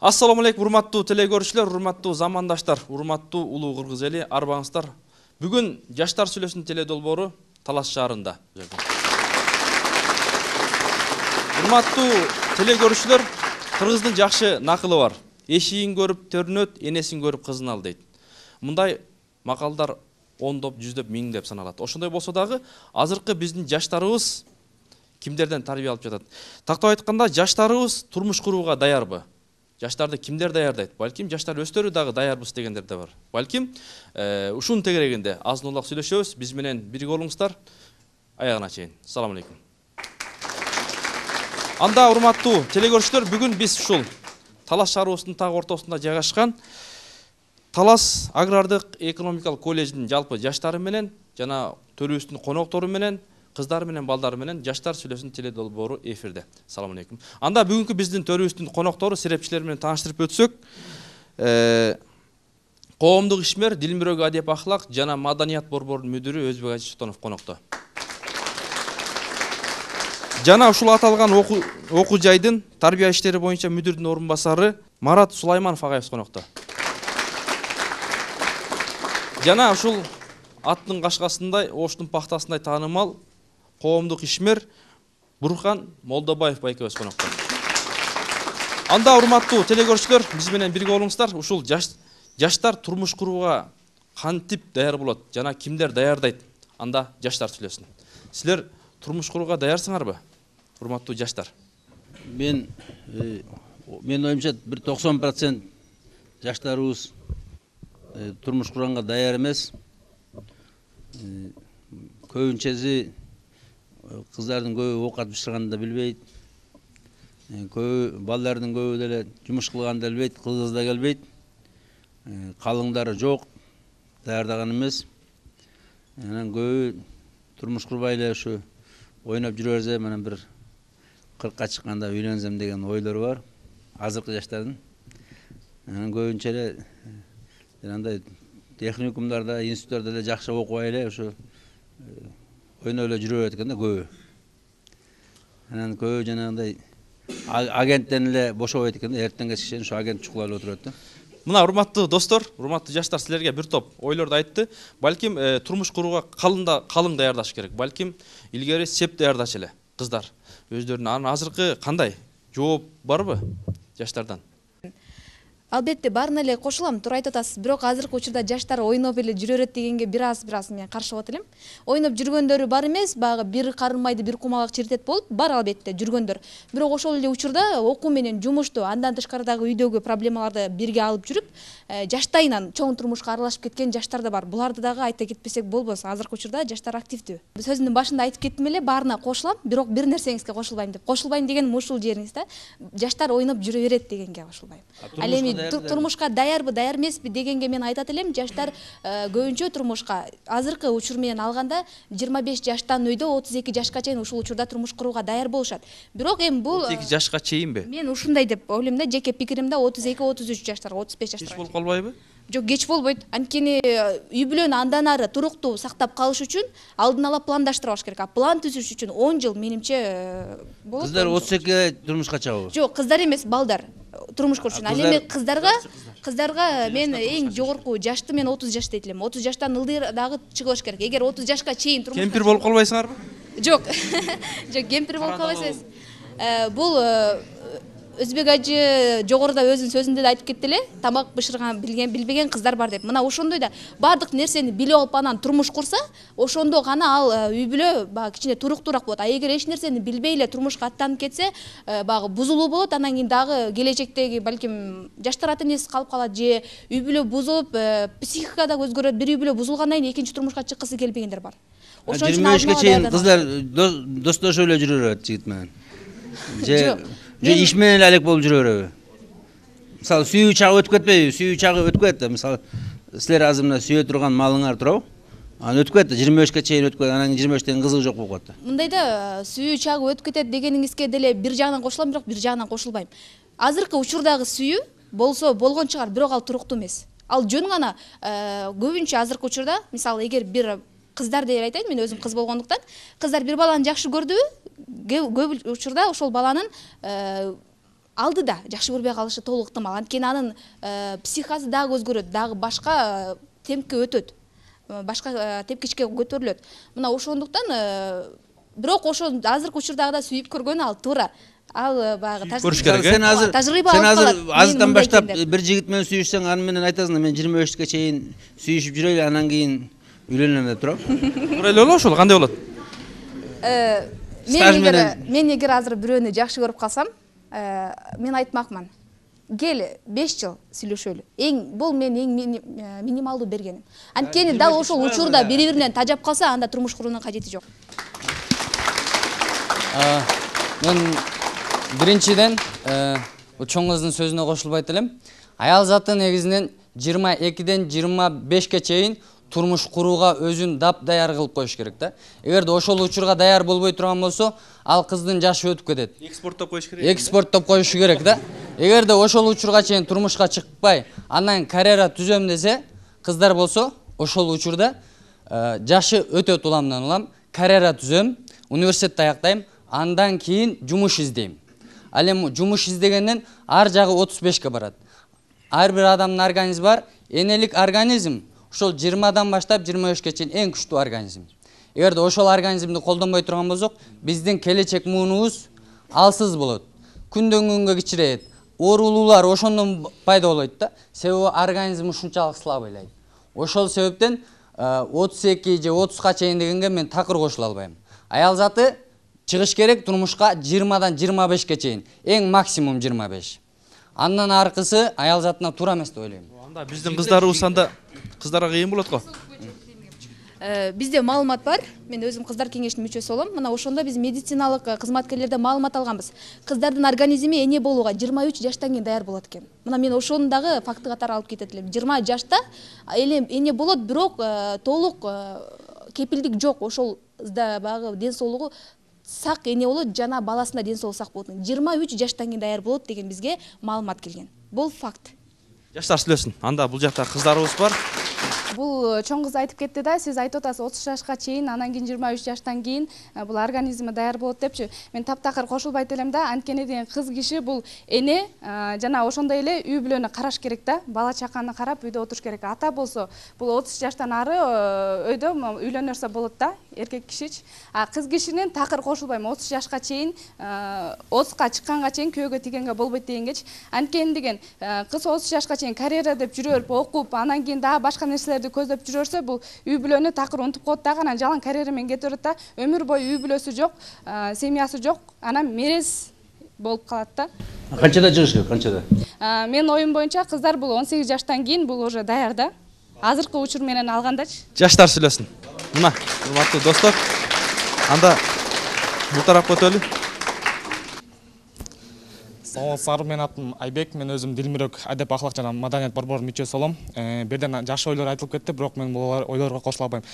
Ассаламу алейкум, урматтуу телекөрүүчүлөр, урматтуу замандаштар, урматтуу улуу кыргыз эли, арбаңыздар. Бүгүн Жаштар сүйлөсүн теледолбоору Талас шаарында. Урматтуу телекөрүүчүлөр, кыргыздын жакшы накылы бар. Эшигин көрүп төрүнөт, энесин көрүп кызын ал дейт. Мындай макалдар ондоп, жүздөп, миңдеп саналат. Ошондой болсо дагы азыркы биздин жаштарыбыз кимдерден тарбия алып жатат? Тактап айтканда, жаштарыбыз турмуш курууга даярбы? Жаштарды кимдер даярдайт? Балким жаштар өздөрү дагы даярбыз дегендер да бар. Балким ушунун тегерегинде азын улак сүйлөшөбүз. Биз менен бирге болуңуздар. Аягына чейин. Салам алейкум. Анда урматтуу телекөрүүчүлөр, бүгүн биз ушул Талас шаарыбыздын так ортосунда жайгашкан Талас агрардык экономикалык колледждин жалпы жаштары менен жана төрүбүздүн коноктору менен, кыздары менен, балдары менен Жаштар сүйлөсүн теледолбоору эфирде. Салам алейкум. Анда бүгүнкү биздин төрүбүздүн коноктору, серепчилер менен тааныштырып өтсөк, коомдук ишмер, Дилмирөг адеп ахлак жана маданият борборунун мүдүрү Өзбек Ажи Султанов конокто. Жана ушул аталган окуу жайдын тарбия иштери боюнча мүдүрдүн орун басары Марат Сулайманов агайыбыз конокто. Жана ушул аттын кашкасындай, оштун пахтасындай таанымал коомдук ишмер Бурхан Молдобаев байкебиз конокто. Анда урматтуу телекөрүүчүлөр, биз менен бирге болуңуздар. Ушул жаштар турмуш курууга кантип даяр болот жана кимдер даярдайт? Анда Жаштар сүйлөсүн. Силер турмуш курууга даярсыңарбы? Урматтуу жаштар. Мен оюмча бир 90% жаштарыбыз турмуш курганга даяр эмес. Көбүнчөсү кыздардын көбү оокат бышырганды да билбейт. Көбү балдардын көбү деле жумуш кылганды да билбейт, кыз да келбейт. Калыңдары жок, даярдаган эмес. Анан көбү турмуш курбай эле ушу ойноп жүрө берсе, менен бир 40ка чыкканда үйлөнсөм деген ойлору бар азыркы жаштардын. Анан көбүнчө эле андай техникумдарда, институттарда эле жакшы окубай эле ушу ойноп эле жүрө берет экен да көбү. Анан көбү жанагындай агенттен эле бошобойт экен да, эртең кечке чейин ушу агент чукулап эле отуруп атты. Мына урматтуу достор, урматтуу жаштар, силерге бир топ ойлорду айтты. Балким турмуш курууга калың даярдаш керек. Балким илгери сеп даярдачу эле кыздар өздөрүнө. Анан азыркы кандай жооп барбы жаштардан? Албетте баарына эле кошулам, туура айтып атасыз. Бирок азыркы учурда жаштар ойноп эле жүрө берет дегенге бир аз мен каршы болот элем. Ойноп жүргөндөрү бар эмес, багы бир карын майды бир кумалак чиртет болуп, бар албетте жүргөндөр. Бирок ошол эле учурда окуу менен жумушту, андан тышкарыдагы үйдөгү проблемаларды бирге алып жүрүп, жаштайынан чоң турмушка аралашып кеткен жаштар да бар. Буларды дагы айта кетпесек болбос. Азыркы учурда жаштар активдүү. Сөзүмдүн башында айтып кеттим эле, баарына кошулам, бирок бир нерсеңизге кошулбайм деп. Кошулбайм дегеним ушул жериңиз да. Жаштар ойноп жүрө берет дегенге кошулбайм. Ал эми турмушка даярбы, даяр эмеспи дегенге мен айтат элем, жаштар көбүнчө турмушка азыркы учур менен алганда 25 жаштан өйдө 32 жашка чейин ушул учурда турмуш курууга даяр болушат. Бирок эми бул 32 жашка чейинби? Мен ушундай деп ойлойм да, жеке пикиримде 32-33 жаштарга, 35 жаштарга. Кеч болуп калбайбы? Жок, кеч болбойт. Анткени үй бүлөнү андан ары туруктуу сактап калыш үчүн алдын ала пландаштырбаш керек. План түзүш үчүн 10 жыл менимче болот. Кыздар 32-ге турмушка чыгабы? Жок, кыздар эмес, балдар. Турмуш курушун. Ал эми кыздарга мен эң жогорку жашты мен 30 жаш дейт элем. 30 жаштан ылдый дагы чыгыш керек. Эгер 30 жашка чейин турмуш кемпир болуп калбайсыңарбы? Жок. Жок, кемпир болуп калбайсыз. Бул Өзбек Ажы жогоруда өзүнүн сөзүндө да айтып кетти эле, тамак бышырган билбеген кыздар бар деп. Мына ошондой да баардык нерсени билип алып анан турмуш курса, ошондо гана ал үй бүлө багы кичине туруктуураак болот. А эгер эч нерсени билбей эле турмушка аттанып кетсе, багы бузулуу болот. Анан кийин дагы келечектеги балким жаштар ата энесиз калып калат же үй бүлө бузулуп, психика да өзгөрөт. Бир үй бүлө бузулгандан кийин экинчи турмушка чыккысы келбегендер бар. Ошон үчүн 25-ке чейин кыздар достошуп эле жүрө берет жигит менен. Же иш менен эле алек болуп жүрө береби? Мисалы сүйүү чагы өтүп кетпейби? Сүйүү чагы өтүп кетти. Мисалы силер азыр мына сүйө турган малыңар турабы? Анан өтүп кетти, 25-ке чейин өтүп кетти. Анан 25-тен кызыгы жок болуп калат. Мындайда сүйүү чагы өтүп кетет дегениңизге деле бир жагынан кошулам, бирок бир жагынан кошулбайм. Азыркы учурдагы сүйүү болсо болгон чыгар, бирок ал туруктуу эмес. Ал жөн гана көбүнчө азыркы учурда, мисалы эгер бир кыздар деп айтайын, мен өзүм кыз болгондуктан, кыздар бир баланы жакшы көрдүбү, көп учурда ошол баланын алдыда жакшы көрбөй калышы толук ыктымал. Анткени анын психикасы дагы өзгөрөт, дагы башка темпке өтөт, башка тепкичке көтөрүлөт. Мына ошондуктан бирок ошо азыркы учурдагыда сүйүп көргөн ал туура. Ал баягы көрүш керек. Сен азыр азырдан баштап бир бир жигит менен сүйүшсөң, аны менен айтасың, мен 25-ке чейин сүйүшүп жүрөйлү, анан кийин үйлөнөм деп туруп. Туура эле болобу ошол? Кандай болот? Мен эгер азыр бирөөнү жакшы көрүп калсам, мен айтмакмын. Кел 5 жыл сүйлөшөлү. Бул мен минималдуу бергеним. Анткени дал ошол учурда бири-биринен тажап калса, анда турмуш куруунун кажети жок. Мен биринчиден чоң кыздын сөзүнө кошулбайт элем. Аял заты негизинен 22ден 25ке чейин турмуш курууга өзүн даяр кылып коюш керек да. Эгерде ошол учурга даяр болбой турган болсо, ал кыздын жашы өтүп кетет. Экспорттоп коюш керек. Экспорттоп коюшу керек да. Эгерде ошол учурга чейин турмушка чыкпай, анан карьера түзөм десе, кыздар болсо, ошол учурда жашы өтөт уламдан улам, карьера түзөм, университетти аяктайм, андан кийин жумуш издейм. Ал эми жумуш издегенден ар жагы 35ке барат. Ар бир адамдын организми бар, энелик организм ошол 20дан баштап 23ке чейин эң күчтүү организм. Эгерде ошол организмди колдонбой турган болсок, биздин келечек муунубуз алсыз болот. Күндөн күнгө кичирейет. Оорулуулар ошондон пайда болот да. Себеби организм ушунчалык слабыйлайт. Ошол себептен 32 же 30га чейин дегенге мен такыр кошула албайм. Аял заты чыгыш керек турмушка 20дан 25ке чейин, эң максимум 25. Андан аркысы аял затына туура эмес деп ойлойм. Анда биздин кыздарыбыз анда кыздарга кыйын болот го. Бизде маалымат бар. Мен өзүм кыздар кеңешинин мүчөсү болом. Мына ошондо биз медициналык кызматкерлерден маалымат алганбыз. Кыздардын организми эне болууга 23 жаштан кийин даяр болот экен. Мына мен ошону дагы факты катары алып кетет элем. 20 жашта эне болот, бирок толук кепилдик жок. Ошол баягы ден соолугу сак эне болот, жана баласында ден соолугу сак болот. 23 жаштан кийин даяр болот деген бизге маалымат келген. Бул факт. Жаштар сүйлөсүн. Анда бул жакта кыздарыбыз бар. Бул чоң кыз айтып кетти да, сиз айтып атасыз 30 жашка чейин, анан кийин 23 жаштан кийин бул организми даяр болот депчи. Мен таптакыр кошулбайт элем да, анткени деген кыз киши бул эне жана ошондой эле үй бүлөнү караш керек да, бала чаканы карап үйдө отуруш керек. Ата болсо бул 30 жаштан ары өйдө үйлөнөрсө болот да, эркек кишичи. А кыз кишинин такыр кошулбайм, 30 жашка чейин, 30га чыкканга чейин күйөөгө тигенге болбойт дегенгечи. Анткени деген кыз 30 жашка чейин карьера деп жүрөп, окуп, анан кийин дагы башка нерселерди көздөп жүрөрсө, бул үй бүлөнү такыр унутуп коет дагы, анан жалаң карьера менен кете берет да, өмүр бою үй бүлөсү жок, семьясы жок, анан мерез болуп калат да. Канчада чыгыш керек, канчада? Менин оюм боюнча кыздар бул 18 жаштан кийин бул уже даяр да. Азыркы учур менен алгандачы. Жаштар сүйлөсүн. Мына, урматтуу достор. Анда бул тарапка өтөлү. Саламатсыздар, менин атым Айбек, мен өзүм Дилмирек адеп ахлак жана маданият борборунун мүчөсү болом. Бирден жакшы ойлор айтылып кетти, бирок мен бул ойлорго кошула албайм.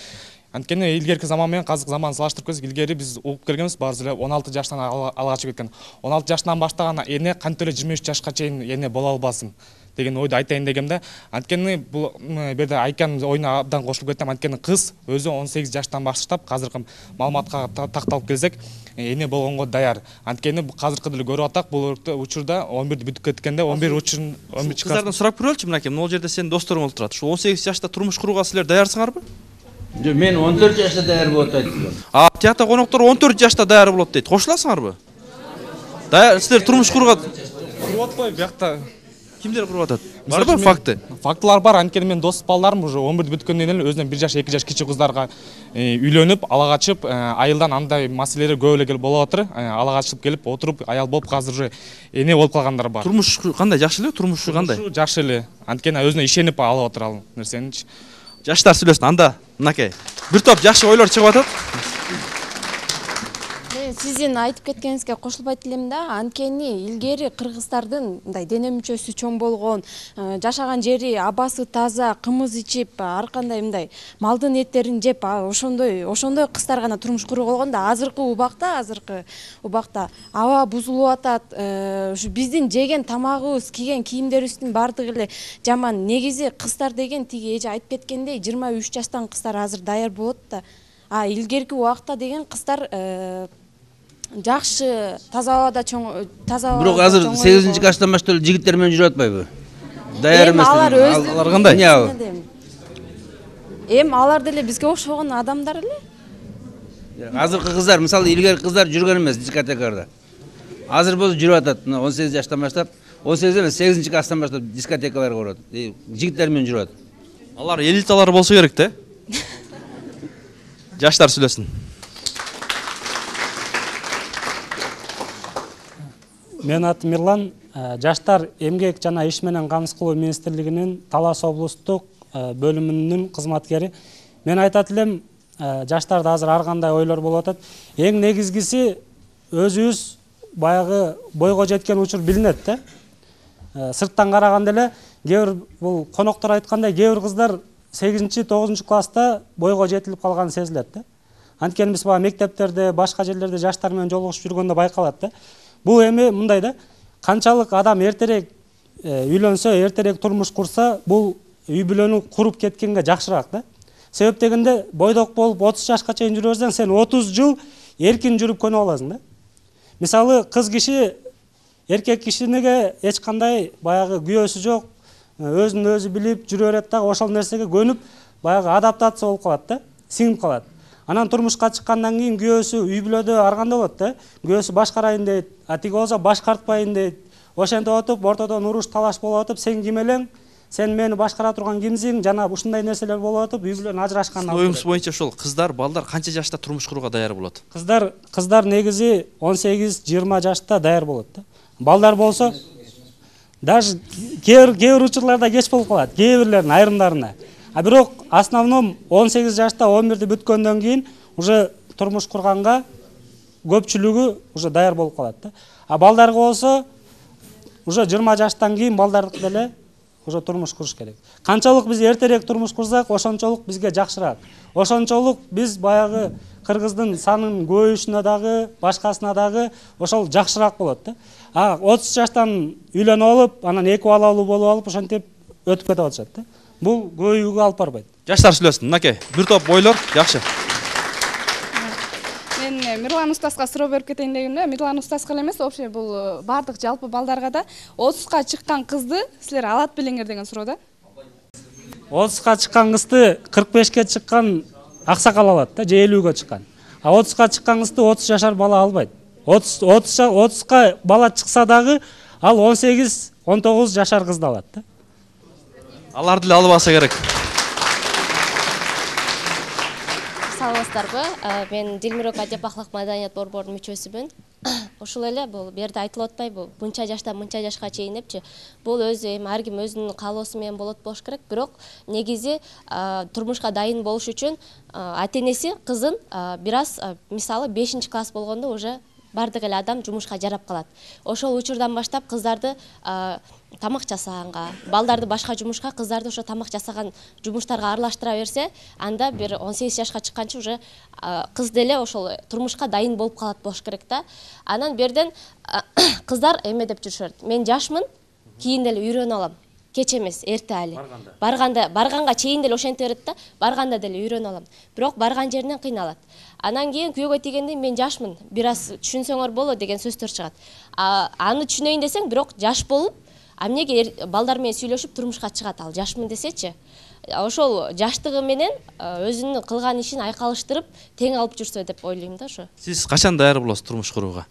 Анткени илгерки заман менен азыркы заманды салыштырып көрсөк, илгери биз угуп келгенбиз, баарыбыз эле 16 жаштан алга чыгып кеткен. 16 жаштан баштаган эне кантип эле 23 жашка чейин эне боло албасын деген ойду айтайын дегемде. Анткени бул берде Айканын оюна абдан кошулуп кеттим. Анткени кыз өзү 18 жаштан баштап, азыркы маалыматка такталып келсек, эне болгонго даяр. Анткени азыркы деле көрүп атак, бул учурда 11 бүтүп кеткенде 11 учурун кыздардан сурап көрөлүчү, мынакей, могул жерде сенин досторуң болуп турат. Ушу 18 жашта турмуш курууга силер даярсыңарбы? Жок, мен 14 жашта даяр болот айттым. Тиякта коноктор 14 жашта даяр болот дейт. Кошуласыңарбы? Даяр, силер турмуш курууга куруп атпайбы биякта? Кимдер куруп атат? Барбы факты? Фактылар бар. Анткени мен дос балдарым уже 11 бүткөндөн эле өзүнөн 1 жаш, 2 жаш кичи кыздарга үйлөнүп, ала качып, айылдан андай маселелер көп эле келип болуп атыр. Ала качып келип, отуруп, аял болуп, азыр уже эне болуп калгандар бар. Турмуш кандай? Жакшы эле? Турмушу кандай? Жакшы эле. Анткени өзүнө ишенип алып атыр ал нерсеничи. Жаштар сүйлөсүн. Анда мынакей бир топ жакшы ойлор чыгып атат. Сиздин айтып кеткениңизге кошулбайт элем да, анткени илгери кыргыздардын мындай дене мүчөсү чоң болгон, жашаган жери, абасы таза, кымыз ичип, ар кандай мындай малдын эттерин жеп, ошондой кыздар гана турмуш курууга болгон да. Азыркы убакта аба бузулуп атат, ушу биздин жеген тамагыбыз, кийген кийимдерибиздин баардыгы эле жаман. Негизи кыздар деген тиги эже айтып кеткендей 23 жаштан кыздар азыр даяр болот да. Илгерки убакта деген кыздар жакшы таза абада таза Бирок азыр 8-класстан баштап эле жигиттер менен жүрүп атпайбы? Даяр эмес. Алар өздөрү. Алар кандай? Алар деле бизге окшогон адамдар эле. Азыркы кыздар, мисалы илгерки кыздар жүргөн эмес дискотекаларда. Азыр болсо жүрүп атат. 18 жаштан баштап, 18 эмес 8-класстан баштап дискотекаларга барат. Жигиттер менен жүрүп атат. Алар элиталар болсо керек да. Жаштар сүйлөсүн. Менин атым Мирлан, Жаштар эмгек жана иш менен камсыз кылуу министрлигинин Талас облустук бөлүмүнүн кызматкери. Мен айтат элем, жаштарда азыр ар кандай ойлор болуп атат. Эң негизгиси өзүбүз баягы бойго жеткен учур билинет да. Сырттан караганда эле кээ бир бул коноктор айткандай, кээ бир кыздар 8-9 класста бойго жетилип калганы сезилет да. Анткени биз баягы мектептерде, башка жерлерде жаштар менен жолугушуп жүргөндө байкалат да. Бул эми мындай да, канчалык адам эртерээк үйлөнсө, эртерээк турмуш курса, бул үй бүлөнү куруп кеткенге жакшыраак да. Себеп дегенде бойдок болуп 30 жашка чейин жүрө берсең, сен 30 жыл эркин жүрүп көнүп аласың да. Мисалы кыз киши эркек кишинеге эч кандай баягы күйөөсү жок, өзүн өзү билип жүрө берет дагы, ошол нерсеге көнүп баягы адаптация болуп калат да, сиңип калат. Анан турмушка чыккандан кийин күйөөсү үй бүлөдө ар кандай болот да. Күйөөсү башкарайын дейт, тиги болсо башкартпайын дейт. Ошентип отуп, ортодон уруш талаш болуп атып, сен ким элең? Сен мени башкара турган кимсиң? Жана ушундай нерселер болуп атып, үй бүлөнү ажырашкандан. Оюңуз боюнча ошол кыздар, балдар канча жашта турмуш курууга даяр болот? Кыздар негизи 18-20 жашта даяр болот да. Балдар болсо даже кээ бир учурларда кеч болуп калат, кээ бирлеринин айрымдарына. А бирок основном 18 жашта 11-ди бүткөндөн кийин уже турмуш курганга көпчүлүгү уже даяр болуп калат да. А балдарга болсо уже 20 жаштан кийин балдардык деле уже турмуш куруш керек. Канчалык биз эртерээк турмуш курсак, ошончолук бизге жакшыраак. Ошончолук биз баягы кыргыздын санын көбөйүшүнө дагы, башкасына дагы ошол жакшыраак болот да. А 30 жаштан үйлөнүп алып, анан 2 балалуу болуп алып, ошентип өтүп кетип атышат да. Бул көбөйүүгө алып барбайт. Жаштар сүйлөсүн, мынакей, бир топ ойлор жакшы. Мен Мирлан устазга суроо берип кетейин дегенде, Мирлан устазга эле эмес, вообще бул бардык жалпы балдарга да 30ка чыккан кызды силер алат белеңер деген суроо да. 30ка чыккан кызды 45ке чыккан аксакал алат да, же 50-ге чыккан. А 30ка чыккан кызды 30 жашар бала албайт. 30ка бала чыкса дагы ал 18-19 жашар кызды алат да. Алар деле албаса керек. Саламатсыздарбы? Мен Дилмирок Адеп Ахлак Маданият борборунун мүчөсүмүн. Ошол эле бул берде айтылып атпайбы, мынча жаштан мынча жашка чейин депчи. Бул өзү эми ар ким өзүнүн каалоосу менен болот болуш керек. Бирок негизи турмушка дайын болуш үчүн ата-энеси кызын бир аз мисалы 5-класс болгондо уже бардык эле адам жумушка жарап калат. Ошол учурдан баштап кыздарды тамак жасаганга, балдарды башка жумушка, кыздарды ошо тамак жасаган жумуштарга аралаштыра берсе, анда бир 18 жашка чыкканча уже кыз деле ошол турмушка дайын болуп калат болуш керек да. Анан берден кыздар эме деп жүрүшөт. Мен жашмын, кийин деле үйрөнүп алам. Кеч эмес, эрте али. Барганга чейин деле ошенте берет да, барганда деле үйрөнүп алам. Бирок барган жеринен кыйналат. Анан кийин күйөөгө тийгенде мен жашмын, бир аз түшүнсөңөр болот деген сөздөр чыгат. Аны түшүнөйүн десең, бирок жаш болуп, эмнеге балдар менен сүйлөшүп турмушка чыгат ал жашмын десечи. Ошол жаштыгы менен өзүнүн кылган ишин айкалыштырып, тең алып жүрсө деп ойлойм да ошо. Сиз качан даяр болосуз турмуш курууга?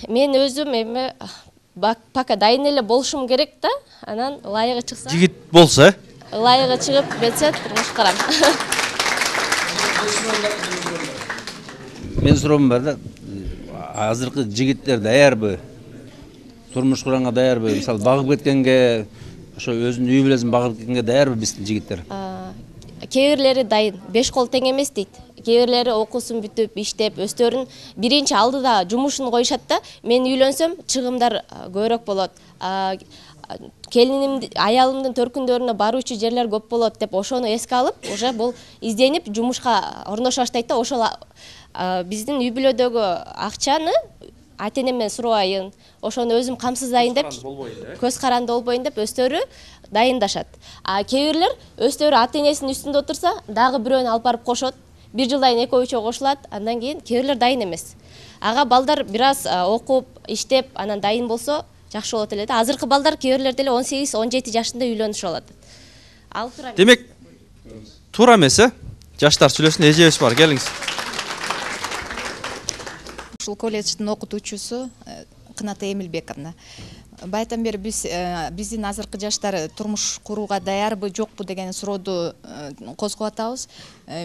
Мен өзүм эми пока дайын эле болушум керек да, анан ылайыгы чыкса. Жигит болсо, ылайыгы чыгып кетсе турмуш курам. Мен суроом бар да, азыркы жигиттер даярбы? Турмуш курганга даярбы? Мисалы багып кеткенге, ошо өзүнүн үй бүлөсүн багып кеткенге даярбы биздин жигиттер? Кээ бирлери дайын, 5 кол тең эмес дейт. Кээ бирлери окуусун бүтүп, иштеп, өздөрүнүн биринчи алдыда жумушун коюшат да. Мен үйлөнсөм, чыгымдар көбүрөөк болот. Келиним, аялымдын төркүндөрүнө баруучу жерлер көп болот деп ошону эске алып, уже бул изденип жумушка орношо баштайт да. Ошол биздин үй бүлөдөгү акчаны ата-энемден сурабайын, ошону өзүм камсыздайын деп, көз каранды болбойн деп өздөрү дайындашат. Кээ бирлер өздөрү ата-энесинин үстүндө отурса, дагы бирөөнү алып барып кошот. 1 жылдан кийин экөө үчөө кошулат, андан кийин кээ бирлер дайын эмес. ага балдар бир аз окуп иштеп анан дайын болсо жакшы болот эле да. Азыркы балдар кээ бирлер деле 18-17 жашында үйлөнүшүп алат. Ал туура. Демек туура эмес, жаштар сүйлөсүн, эжебиз бар, келиңиз. Ушул колледждин окутуучусу Кыната Эмилбековна. Байдан бери биздин азыркы жаштар турмуш курууга даярбы, жокпу деген сурооду козгоп атабыз.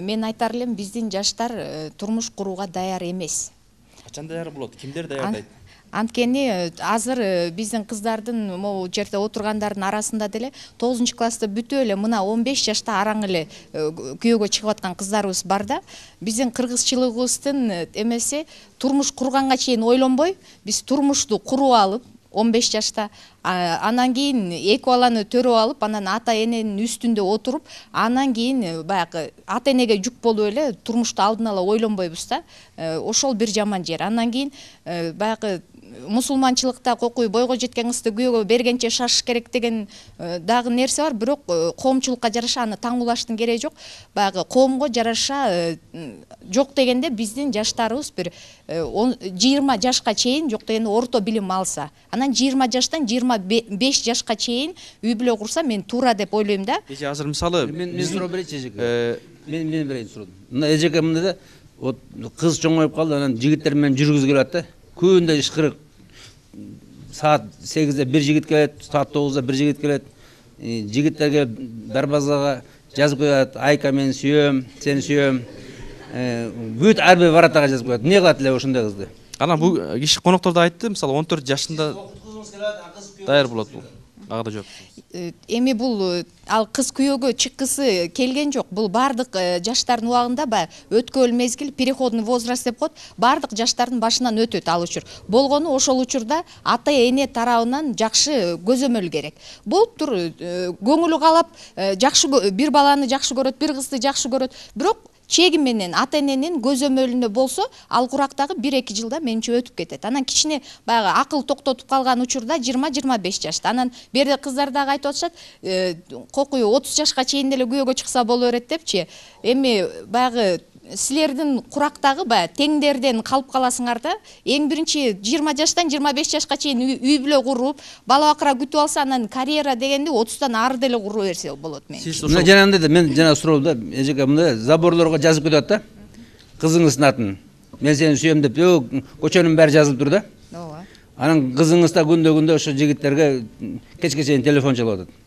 Мен айтар элем, биздин жаштар турмуш курууга даяр эмес. Качан даяр болот? Кимдер даярдайт? Анткени азыр биздин кыздардын могу жерде отургандардын арасында деле 9 класста бүтүп эле мына 15 жашта араң эле күйөөгө чыгып аткан кыздарыбыз бар да. Биздин кыргызчылыгыбыздын эмеси турмуш курганга чейин ойлонбой, биз турмушту куруп алып 15 жашта анан кийин 2 баланы төрөп алып, анан ата эненин үстүндө отуруп, анан кийин баягы ата энеге жүк болуп эле турмушту алдын ала ойлонбойбуз да. Ошол бир жаман жер. Анан кийин баягы мусулманчылыкта кокуй бойго жеткен кызды күйөөгө бергенче шашыш керек деген дагы нерсе бар, бирок коомчулукка жараша аны таңуулаштын кереги жок. Баягы коомго жараша жок дегенде биздин жаштарыбыз бир 20 жашка чейин жок дегенде орто билим алса, анан 20 жаштан 25 жашка чейин үй бүлө курса мен туура деп ойлойм да. Эже азыр мисалы мен суроо берейинчи эжеке. Мен берейин суроону. Мына эжеке мындай да, вот кыз чоңоюп калды, анан жигиттер менен жүргүзүп келет да. Күндө ишкырык. Saat 8'de bir jigit келет, saat 9'da bir jigit келет. Жигиттерге дарбазага жазып коет, Айка мен сүйөм, сени сүйөм. Бүт ар бир баратага жазып коет. Эмне кылат эле ошондой кызды? Анан бул киши коноктор да айтты, мисалы 14 жашында даяр болот бул. Ага да жооп. Эми бул ал кыз күйөөгө чыккысы келген жок. Бул бардык жаштардын убагында өткөл мезгил, переходный возраст деп коет. Бардык жаштардын башынан өтөт ал учур. Болгону ошол учурда ата эне тарабынан жакшы көзөмөл керек. Болуптур, көңүлү каалап жакшы бир баланы жакшы көрөт, бир кызды жакшы көрөт. Бирок чеги менен ата эненин көзөмөлүндө болсо, ал курактагы 1-2 жылда менче өтүп кетет. Анан кичине баягы акыл токтотуп калган учурда 20-25 жашта. Анан берде кыздар дагы айтып атышат, кокуй 30 жашка чейин деле күйөөгө чыкса боло берет депчи. Эми баягы силердин курактагы теңдерден калып каласыңар да. Эң биринчи 20 жаштан 25 жашка чейин үй бүлө куруп, бала бакыра күтүп алса, анан карьера дегенди 30тан ары деле куруп берсе болот мен. Мына жанагындай да, мен жана суроом да, эжеке мындай заборлорго жазып кетет да. Кызыңыздын атын. Мен сени сүйөм деп, көчөнүн баары жазылып тур да. Ооба. Анан кызыңыз да күндө ошо жигиттерге кечке чейин телефон чалып атат.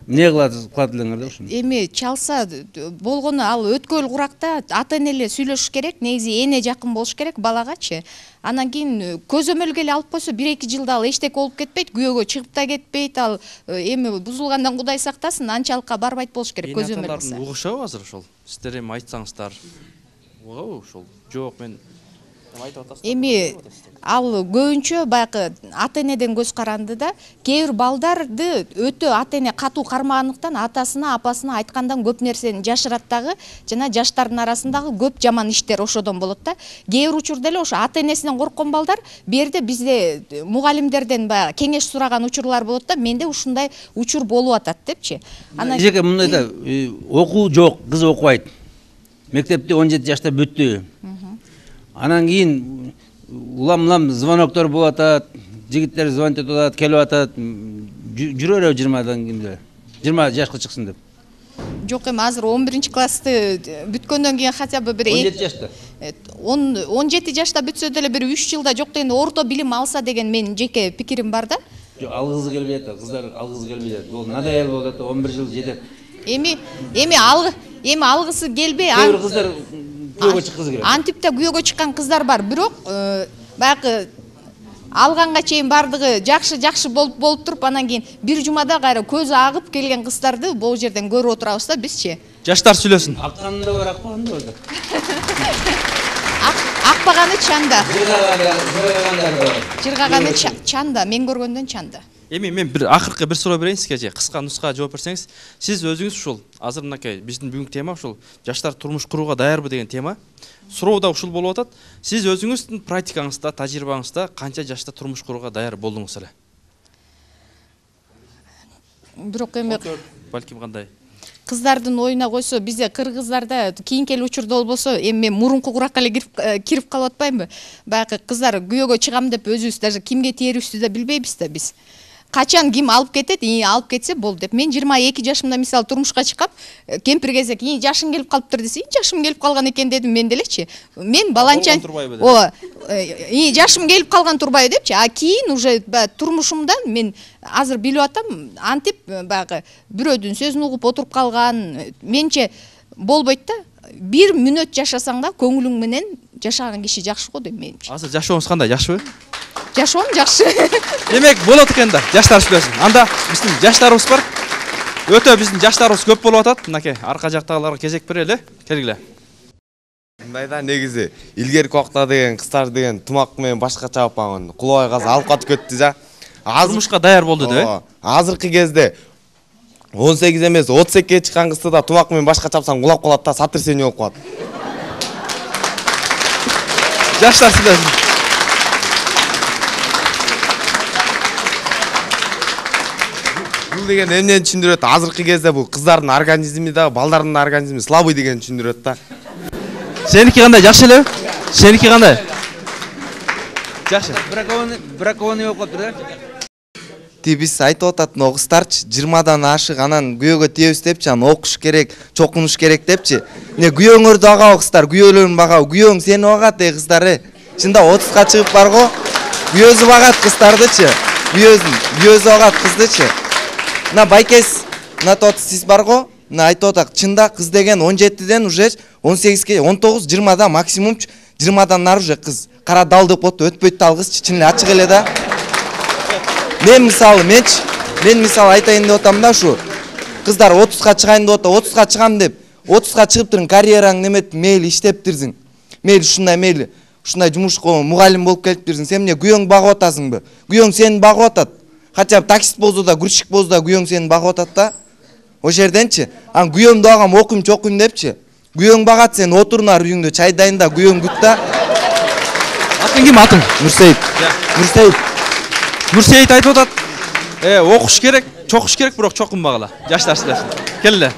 Эмне кылат элеңер да ушуну? Эми чалса болгону ал өткөл куракта ата эне эле сүйлөшүш керек, негизи эне жакын болуш керек балагачы. Анан кийин көзөмөлгө эле алып койсо 1-2 жылда ал эчтеке болуп кетпейт, күйөөгө чыгып да кетпейт, ал эми бузулгандан Кудай сактасын, анчалыкка барбайт болуш керек көзөмөл кылса. Угушабы азыр ошол? Сиздер эми айтсаңыздар. Угабы ошол? Жок, мен Эми ал көбүнчө баягы ата энеден көз каранды да, кээ бир балдарды өтө ата эне катуу кармагандыктан атасына, апасына айткандан көп нерсени жашырат дагы, жана жаштардын арасындагы көп жаман иштер ошодон болот да. Кээ бир учурда эле ошо ата энесинен корккон балдар берде бизде мугалимдерден баягы кеңеш сураган учурлар болот да, менде ушундай учур болуп атат депчи. Анан эжеке мындай да, окуу жок, кыз окубайт. Мектепти 17 жашта бүттү. Анан кийин улам звоноктор болуп атат, жигиттер звонить этип атат, келип атат, жүрө береби 20-дан кийин 20 жашка чыксын деп. Жок, эми азыр 11 классты бүткөндөн кийин хотя бы бир 17 жашта. 17 жашта бүтсө деле бир 3 жылда жок дегенде орто билим алса деген менин жеке пикирим бар да. Жок, алгысы келбей атат, кыздар алгысы келбей атат. Бул надоел болуп атат, 11 жыл жетет. Эми алгысы келбей, Кээ бир кыздар күйөөгө чыккызы келет. Антипте күйөөгө чыккан кыздар бар, бирок баягы алганга чейин бардыгы жакшы болуп туруп, анан кийин бир жумада кайра көзү агып келген кыздарды бул жерден көрүп отурабыз да бизчи. Жаштар сүйлөсүн. Акканында бар, акпаганда бар. Акпаганы чанда. Жыргаганы чанда, мен көргөндөн чанда. Эми мен бир акыркы бир суроо берейин сизге, кыска нуска жооп берсеңиз. Сиз өзүңүз ушул азыр мынакей биздин бүгүнкү тема ушул жаштар турмуш курууга даярбы деген тема. Суроо да ушул болуп атат. Сиз өзүңүздүн практикаңызда, тажрыйбаңызда канча жашта турмуш курууга даяр болдуңуз эле? Бирок эми балким кандай? кыздардын оюна койсо, бизде кыргыздарда кийинки учурда болбосо, эми мен мурунку куракка эле кирип калып атпаймынбы? Баягы кыздар күйөөгө чыгам деп өзүбүз даже кимге тээрибизди да билбейбиз да биз. Качан ким алып кетет, алып кетсе болду деп. Мен 22 жашымда мисалы турмушка чыккам, кемпир кезек, жашым келип калыптыр десе, жашым келип калган экен дедим мен делечи. Мен баланчан, жашым келип калган турбайбы депчи. А кийин уже турмушумдан мен азыр билип атам, антип баягы бирөөдүн сөзүн угуп отуруп калган, менче болбойт да. 1 мүнөт жашасаң да көңүлүң менен жашаган киши жакшы го дейм менимче. Азыр жашооңуз кандай, жакшыбы? Жашоом жакшы. Демек болот экен да, жаштар сүйлөсүн. Анда биздин жаштарыбыз бар. Өтө биздин жаштарыбыз көп болуп атат. Мынакей арка жактагыларга кезек берели. Келгиле. Мындай да негизи илгерки убакта деген кыздар деген тумак менен башкача апаңын кулабай казы алып катып кетти да. Турмушка даяр болду деп. Азыркы кезде 18 эмес 32-ге чыккан кызды да тумак менен башкача апсаң кулап калат да, сотрясение болуп калат. Жаштар сүйлөсүн. Бул деген эмнени түшүндүрөт? Азыркы кезде бул кыздардын организми да, балдардын организми слабый деген түшүндүрөт да. Сеники кандай, жакшы элеби? Сеники кандай? Жакшы. Бракованный болуп калыптыр да. Биз айтып атат, кыздарчы 20-дан ашык анан күйөөгө тийебиз депчи, анан окуш керек, чокунуш керек депчи. Эмне күйөөңөрдү багабы кыздар, күйөөлөрүн багабы? Күйөөң сени багат кыздар. Чында 30га чыгып барго, күйөөсү багат кыздардычы. Күйөөсү багат кыздычы. Мына байкес, мына тот сиз барго, мына айтып атат, чында кыз деген 17ден уже 18ге, 19, 20да максимум 20дан нары уже кыз. Кара дал деп отто, өтпөйт да ал кыз, чын эле ачык эле да. Мен мисалы айтайын деп атам да ушу. Кыздар 30га чыгайын деп атат, 30га чыгам деп, 30га чыгыптырың карьераң немет, мейли иштептирсиң. Мейли ушундай жумушка мугалим болуп келиптирсиң. Сен эмне күйөөң багып атасыңбы? Күйөөң сени багып атат. Хотя бы таксист болсо да, грузчик болсо да күйөөң сени багып атат да. Ошол жерденчи, ан күйөөмдү багам, окуйм, чокуйм депчи. Күйөөң багат, сен отур нар үйүңдө, чай дайында, күйөөң күт да. Атың ким атың? Нурсейит. Нурсейит айтып атат, окуш керек, чокуш керек, бирок чокунбагыла. Жаштар сүйлөсүн. Келе.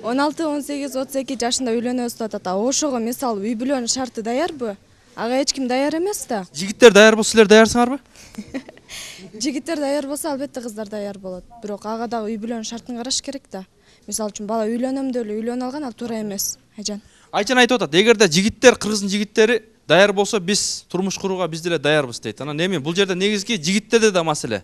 16, 18, 32 жашында үйлөнөбүз деп атат. Ошого мисалы үй бүлөнүн шарты даярбы? Ага эч ким даяр эмес да. Жигиттер даяр болсо, силер даярсыңарбы? Жигиттер даяр болсо, албетте кыздар даяр болот. Бирок ага дагы үй бүлөнүн шартын караш керек да. Мисалы үчүн бала үйлөнөм деп эле үйлөнүп алган, ал туура эмес. Айжан. Айжан айтып атат, эгерде жигиттер, кыргыздын жигиттери даяр болсо, биз турмуш курууга биз деле даярбыз дейт. Анан эми бул жерде негизги жигиттерде да маселе.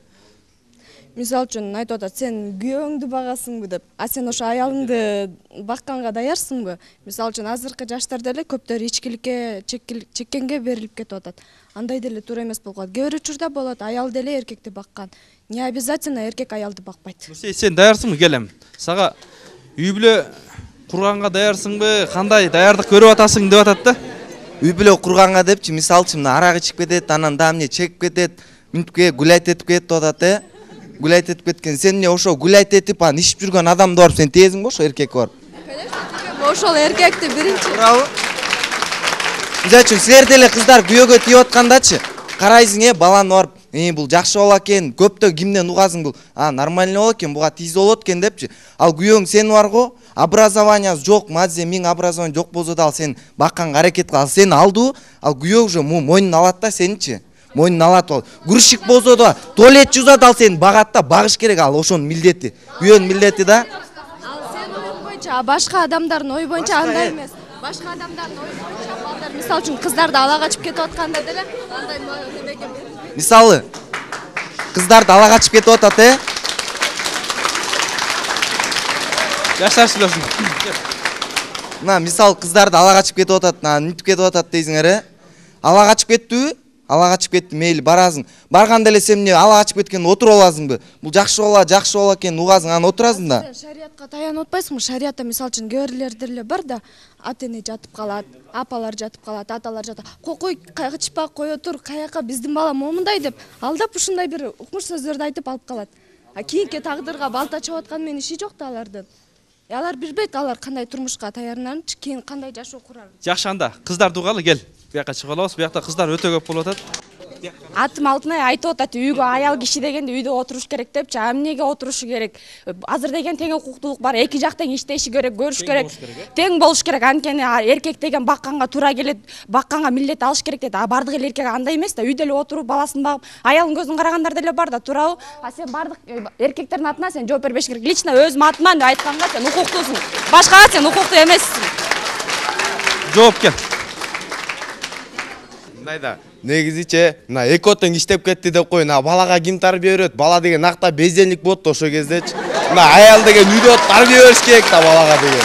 Мисалы үчүн айтып атат, сен күйөөңдү багасыңбы деп, а сен ошо аялыңды бакканга даярсыңбы? Мисалы үчүн азыркы жаштар деле көптөр ичкиликке, чеккенге берилип кетип атат. Андай деле туура эмес болуп калат. Кээ бир учурда болот, аял деле эркекти баккан. Не обязательно эркек аялды бакпайт. Сен даярсыңбы, келем? Сага үй бүлө курганга даярсыңбы? Кандай даярдык көрүп атасың деп атат да? Үй бүлө курганга депчи, мисалы үчүн арак ичип кетет, анан да эмне чегип кетет, мүнтүккө гулять этип кетип атат, Гулять этип кеткен. Сен эмне ошо гулять этип, анан ичип жүргөн адамды барып сен тезиңби ошо эркекке барып? Конечно, ошол эркекти биринчи. Туурабы? Мисалы үчүн силер деле кыздар күйөөгө тийип аткандачы, карайсың, баланы барып, бул жакшы бала экен, көптө кимден угасың бул? Нормальный бала экен, буга тийсе болот экен депчи. Ал күйөөң сени барго, образованиясы жок, мазде 1000 образование жок болсо да ал сен бакканга аракет кыл. Ал сени алдыбы? Ал күйөө уже мойнун алат да сеничи. Мойнун алат ал. Грузчик болсо да, туалет жуузат, ал сени багат да, багыш керек, ал ошонун милдети. Күйөөнүн милдети да. Ал сенин оюң боюнча, башка адамдардын ою боюнча андай эмес. Башка адамдардын ою боюнча балдар, мисалы үчүн кыздарды ала качып кетип атканда деле андай немеге. Мисалы кыздарды ала качып кетип атат, Жаштар сүйлөсүн. Мына мисалы кыздарды ала качып кетип атат, мүнтүп кетип атат дейсиңер, Ала качып кеттиби? Ала качып кетти, мейли барасың. Барганда эле сен эмне ала качып кеткенде отуруп аласыңбы? Бул жакшы бала экен, угасың, анан отурасың да. Сен шариатка таянып атпайсыңбы? Шариатта мисалы үчүн кээ деле бар да, ата-эне жатып калат, апалар жатып калат, аталар жатат. Кой, качпа, кое тур, каяка биздин бала момундай деп, алдап ушундай бир укмуш сөздөрдү айтып алып калат. Кийинки тагдырга балта чабып аткан менен иши жок да алардын. Алар билбейт, алар кандай турмушка даярданарын, кийин кандай жашоо курарын. Жакшы, анда кыздар дугалы, кел. Бияка чыгып алабыз. Биякта кыздар өтө көп болуп атат. Атым Алтынай айтып атат, үйгө аял киши дегенде үйдө отуруш керек депчи. Эмнеге отурушу керек? Азыр деген тең укуктуулук бар. Эки жак тең иштеши керек, көрүш керек. Тең болуш керек. Анткени эркек деген бакканга туура келет, бакканга милдет алыш керек дейт. Бардык эле эркек андай эмес да. Үйдө эле отуруп баласын багып, аялын көзүн карагандар деле бар да, туурабы? Сен бардык эркектердин атынан сен жооп бербеш керек. Лично өзүм атыман деп айтканга сен укуктуусуң. Башкага сен укуктуу эмессиң. Жооп кел. Мындайда негизиче мына эки отен иштеп кетти деп кой, балага ким тарбия берет? Бала деген накта безденлик болот да ошол кездечи. Мына аял деген үйдө тарбия бериш керек да балага деген.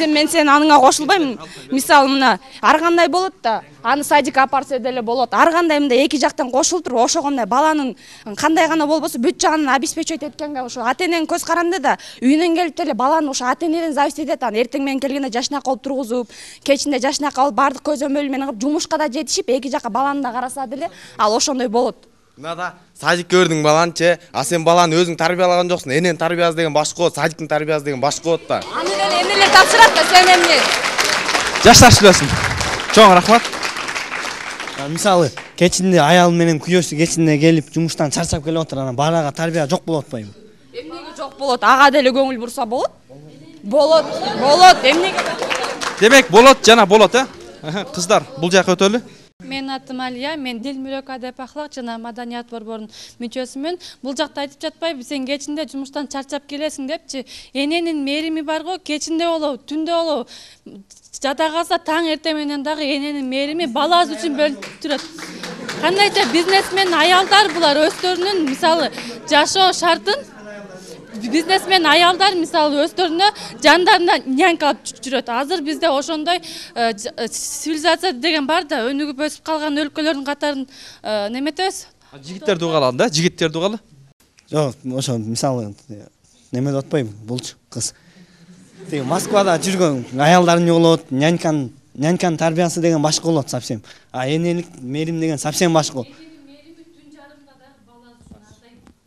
Мен сен аныңа кошулбайм. Мисалы мына ар кандай болот да, аны садикке апарса деле болот. Ар кандай мындай эки жактан кошулуп туруп, ошого мындай баланын кандай гана болбосо бүт жагын обеспечивать эткенге ошо ата-эненин көз каранды да, үйүнөн келип деле баланы ошо ата-энеден зависит этет. Аны эртең менен келгенде жашнак кылып тургузуп, кечинде жашнак алып, бардык көзөмөл менен кылып, жумушка да жетишип, эки жака баланы да караса деле, ал ошондой болот. Мынада садикке бердиң баланычы, а сен баланы өзүң тарбиялаган жоксуң. Эненин тарбиясы деген башка болот, садиктин тарбиясы деген башка болот да. Аны деле энелер тапшырат да, сен эмне? Жаштар сүйлөсүн. Чоң рахмат. Мисалы, кечинде аял менен күйөөсү кечинде келип жумуштан чарчап келип отур, анан балага тарбия жок болуп атпайбы? Эмнеге жок болот? Ага деле көңүл бурса болот. Болот, эмнеге? Демек болот жана болот, Кыздар, бул жака өтөлү. Мен атым Алия, мен Дил мүлөк адеп ахлак жана маданият борборунун мүчөсүмүн. Бул жакта айтып жатпайбы, сен кечинде жумуштан чарчап келесиң депчи. Эненин мээрими бар го, кечинде болобу, түндө болобу, жата калса таң эртең менен дагы эненин мээрими баласы үчүн бөлүнүп турат. Кандайча бизнесмен аялдар булар өздөрүнүн мисалы жашоо шартын бизнесмен аялдар мисалы өздөрүнө жандарына нянька алып жүрөт. Азыр бизде ошондой цивилизация деген бар да, өнүгүп өсүп калган өлкөлөрдүн катарын неметебиз. Жигиттерди угалы да, жигиттерди угалы. Жок, ошо мисалы неме деп атпайбы, булчу кыз. Тиги Москвада жүргөн аялдарын угулот, няньканын тарбиясы деген башка болот совсем. А энелик мээрим деген совсем башка.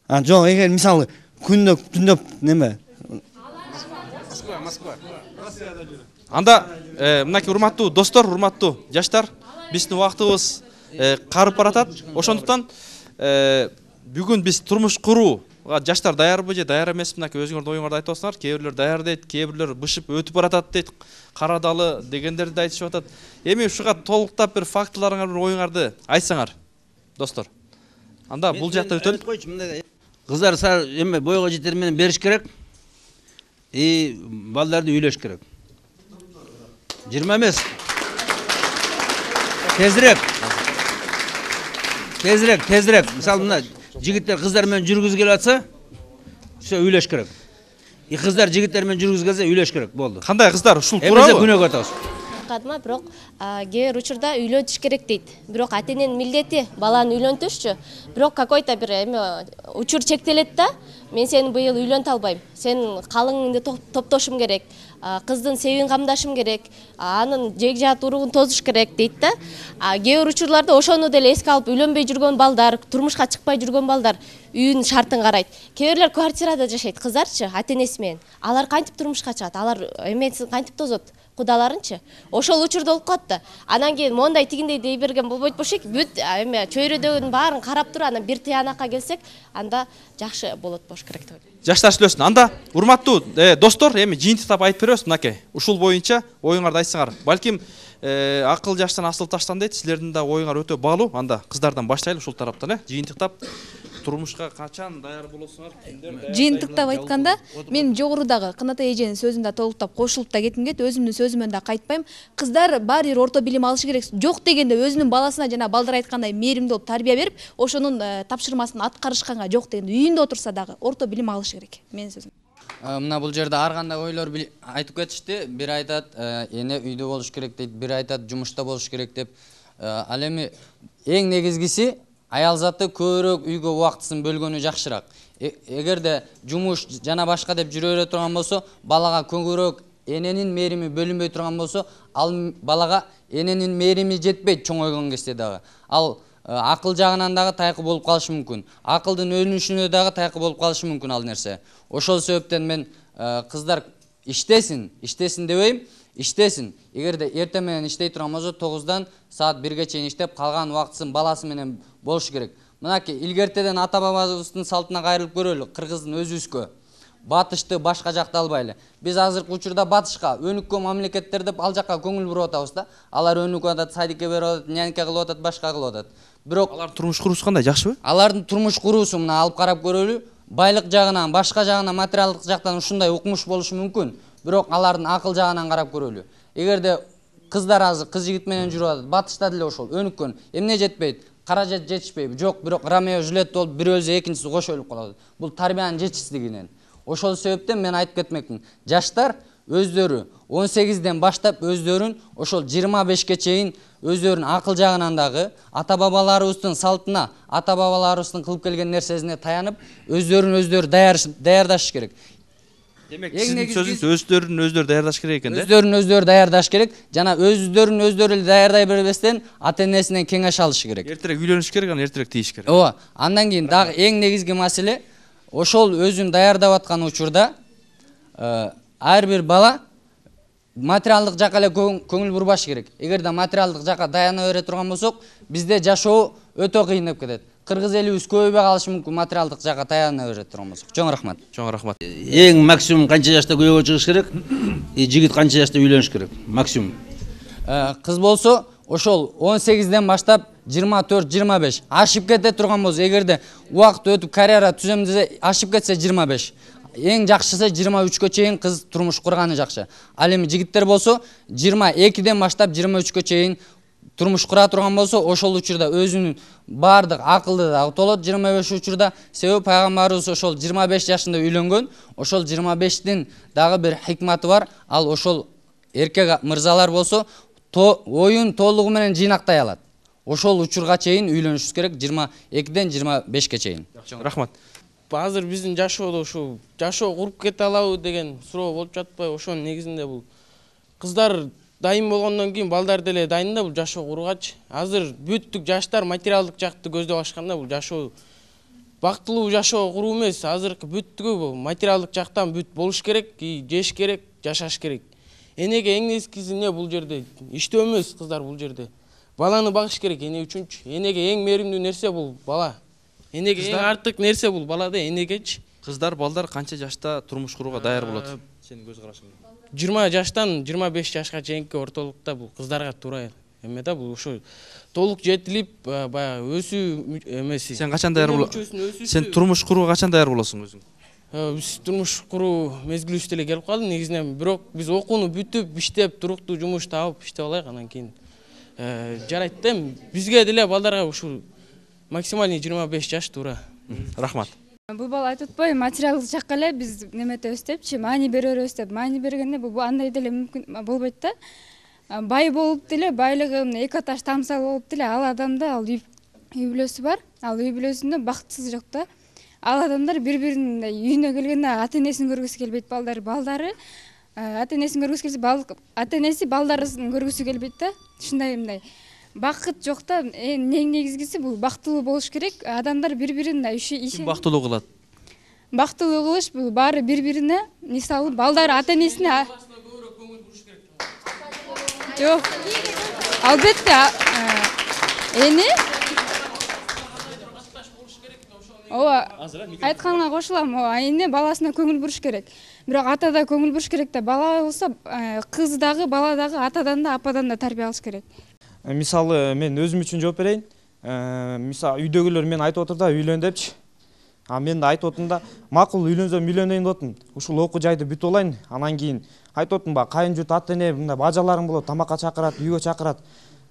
Жок, эгер мисалы түндөп неме? Москва. Анда мынакей урматтуу достор, урматтуу жаштар, биздин убактыбыз карып баратат. Ошондуктан бүгүн биз турмуш курууга жаштар даярбы же даяр эмеспи? Мынакей өзүңөрдүн оюңарды айтып атсыңар. Кээ бирлер даяр дейт, кээ бирлер бышып өтүп баратат дейт. Карадалы дегендерди айтышып атат. Эми ушуга толуктап бир фактыларыңар, бир оюңарды айтсаңар, достор. Анда бул жакта өтөлү. Кыздар эме бойго жетер менен бериш керек. Балдарды үйлөш керек. 20 эмес. Тезирээк. Мисалы мына жигиттер кыздар менен жүргүзүп келип атса, ошо үйлөш керек. Кыздар жигиттер менен жүргүзүп келсе үйлөш керек, болду. Кандай кыздар ушул туурабы? Күнөөгө атабыз. Кадма, бирок кээ бир учурда үйлөнүш керек дейт. Бирок ата-эненин милдети баланы үйлөнтүшчү. Бирок какой-то бир эме учур чектелет да. Мен сени быйыл үйлөнтө албайм. Сен калыңыңды топтошум керек. Кыздын себин камдашым керек. Анын жег жаат уругун тозуш керек дейт да. Кээ бир учурларда ошону деле эске алып үйлөнбөй жүргөн балдар, турмушка чыкпай жүргөн балдар үйүнүн шартын карайт. Кээ бирлер квартирада жашайт, кыздарчы, ата-энеси менен. Алар кантип турмушка чыгат? Алар эмесин кантип тозот? Кудаларынчы. Ошол учурда болуп калат да. Анан кийин мондай тигиндей дей берген болбойт болчу. Бүт эме чөйрөдөгүнүн баарын карап туруп, анан бир тыянакка келсек, анда жакшы болот болуш керек деп ойлойм. Жаштар сүйлөсүн. Анда урматтуу достор, эми жыйынтыктап айтып беребиз мынакей. Ушул боюнча оюңарды айтсаңар. Балким акыл жаштан асыл таштан дейт. Силердин да оюңар өтө баалуу. Анда кыздардан баштайлы ушул тараптан, жыйынтыктап турмушка качан даяр болосуңар? Жыйынтыктап айтканда, мен жогорудагы Кынатай эженин сөзүн да толуктап кошулуп да кетким келет. Өзүмдүн сөзүмөн да кайтпайм. Кыздар баары бир орто билим алышы керек. Жок дегенде өзүнүн баласына жана балдар айткандай мээримдүү болуп тарбия берип, ошонун тапшырмасын аткарышканга, жок дегенде үйүндө отурса дагы орто билим алышы керек. Менин сөзүм. Мына бул жерде ар кандай ойлор айтып кетишти. Бир айтат эне үйдө болуш керек дейт, бир айтат жумушта болуш керек деп. Ал эми эң негизгиси аял заты көбүрөөк үйгө убактысын бөлгөнү жакшыраак. Эгерде жумуш жана башка деп жүрө бере турган болсо, балага көбүрөөк эненин мээрими бөлүнбөй турган болсо, ал балага эненин мээрими жетпейт чоңойгон кезде дагы. Ал акыл жагынан дагы тайкы болуп калышы мүмкүн. Акылдын өнүшүнө дагы тайкы болуп калышы мүмкүн ал нерсе. Ошол себептен мен кыздар иштесин дебейм. иштесин. Эгерде эртең менен иштей турган болсо 9-дан саат 1-ге чейин иштеп, калган убактысын баласы менен болуш керек. Мынакей илгертеден ата бабабыздын салтына кайрылып көрөлү, кыргыздын өзүбүзгө. Батышты башка жакта албайлы. Биз азыркы учурда батышка, өнүккөн мамлекеттер деп ал жакка көңүл буруп атабыз да. Алар өнүкүп атат, садикке берип атат, нянька кылып атат, башка кылып атат. Бирок алар турмуш куруусу кандай, жакшыбы? Алардын турмуш куруусу мына алып карап көрөлү. Байлык жагынан, башка жагынан, материалдык жактан ушундай укмуш болушу мүмкүн. Бирок алардын акыл жагынан карап көрөлү. Эгерде кыздар азыр кыз жигит менен жүрүп атат, батышта деле ошол өнүккөн. Эмне жетпейт? Каражат жетишпейби? Жок, бирок Ромео Жюлет болуп бир өлсө экинчиси кошо өлүп калат. Бул тарбиянын жетишсиздигинен. Ошол себептен мен айтып кетмекмин. Жаштар өздөрү 18-ден баштап өздөрүн ошол 25-ке чейин өздөрүнүн акыл жагынан дагы ата бабаларыбыздын салтына, ата бабаларыбыздын кылып келген нерсесине таянып, өздөрү даярдаш керек. Демек, сиздин сөзүңүз өздөрүн даярдаш керек экен да? Өздөрүн даярдаш керек. Жана өздөрүн эле даярдай бербестен ата-энесинен кеңеш алыш керек. Эртерээк үйлөнүш керек, анан эртерээк тийиш керек. Ооба. Андан кийин дагы эң негизги маселе ошол өзүн даярдап аткан учурда ар бир бала материалдык жакка эле көңүл бурбаш керек. Эгерде материалдык жакка даяна бере турган болсок, бизде жашоо өтө кыйындап кетет. Кыргыз элибиз көбөйбөй калышы мүмкүн материалдык жакка таяна бере турган болсок. Чоң рахмат. Чоң рахмат. Эң максимум канча жашта күйөөгө чыгыш керек? Жигит канча жашта үйлөнүш керек? Максимум. Кыз болсо ошол 18-ден баштап 24-25 ашып кете турган болсо, эгерде убакыт өтүп карьера түзөм десе, ашып кетсе 25. Эң жакшысы 23-кө чейин кыз турмуш курганы жакшы. Ал эми жигиттер болсо 22-ден баштап 23-кө чейин турмуш кура турган болсо, ошол учурда өзүнүн баардык акылды дагы толот 25 учурда. Себеби пайгамбарыбыз ошол 25 жашында үйлөнгөн. Ошол 25-тин дагы бир хикматы бар. Ал ошол эркек мырзалар болсо оюн толугу менен жыйнактай алат. Ошол учурга чейин үйлөнүшүбүз керек 22-ден 25-ке чейин. Рахмат. Азыр биздин жашоодо ушу жашоо куруп кете алабы деген суроо болуп жатпайбы? Ошонун негизинде бул кыздар дайын болгондон кийин балдар деле дайын да бул жашоо кургачы. Азыр бүттүк жаштар материалдык жакты көздөп ашканда бул жашоо бактылуу жашоо куруу эмес. Азыркы бүттүгү бул материалдык жактан бүт болуш керек, жеш керек, жашаш керек. Энеге эң негизгиси эмне бул жерде? Иштөө эмес кыздар бул жерде. Баланы багыш керек эне үчүнчү. Энеге эң мээримдүү нерсе бул бала. Энеге эң артык нерсе бул балада энегечи. Кыздар, балдар канча жашта турмуш курууга даяр болот? Сенин көз карашың? 20 жаштан 25 жашка чейинки ортолукта бул кыздарга туура эме да, бул ошо толук жетилип баягы өсүү эмеси. Сен качан даяр болосуң? Сен турмуш курууга качан даяр болосуң өзүң? Биз турмуш куруу мезгилибиз деле келип калды негизинен, бирок биз окууну бүтүп, иштеп, туруктуу жумуш таап иштеп алайык, анан кийин жарайт да. Бизге деле балдарга ушул максимальный 25 жаш туура. Рахмат. Бул бала айтып атпайбы, материалдык жакка эле биз неметебиз депчи, маани беребиз деп. Маани бергенде бул андай деле мүмкүн болбойт да. Бай болуп деле, байлыгы эки аташ тамсал болуп деле, ал адамда ал үй бүлөсү бар. Ал үй бүлөсүндө бактысыз жок да. Ал адамдар бири-биринин үйүнө келгенде ата-энесин көргүсү келбейт, балдары ата-энесин көргүсү келсе, ата-энеси балдарын көргүсү келбейт да. Ушундай мындай бакыт жок да. Эң негизгиси бул бактылуу болуш керек. Адамдар бири-бирин Ким бактылуу кылат? Бактылуу кылыш бул баары бири-бирине, мисалы балдар ата-энесине жок. Албетте эне ооба айтканга кошулам. Эне баласына көңүл буруш керек. Бирок ата да көңүл буруш керек да. Бала болсо кыз дагы, бала дагы атадан да, ападан да тарбия алыш керек. Мисалы мен өзүм үчүн жооп берейин. Мисалы үйдөгүлөр мен айтып отур да, үйлөн депчи. Мен да айтып отум да, макул үйлөнсөм үйлөнөйүн деп отум. Ушул окуу жайды бүтүп алайын. Анан кийин айтып отум ба, кайын журт ата-эне мындай бажаларым болот, тамакка чакырат, үйгө чакырат.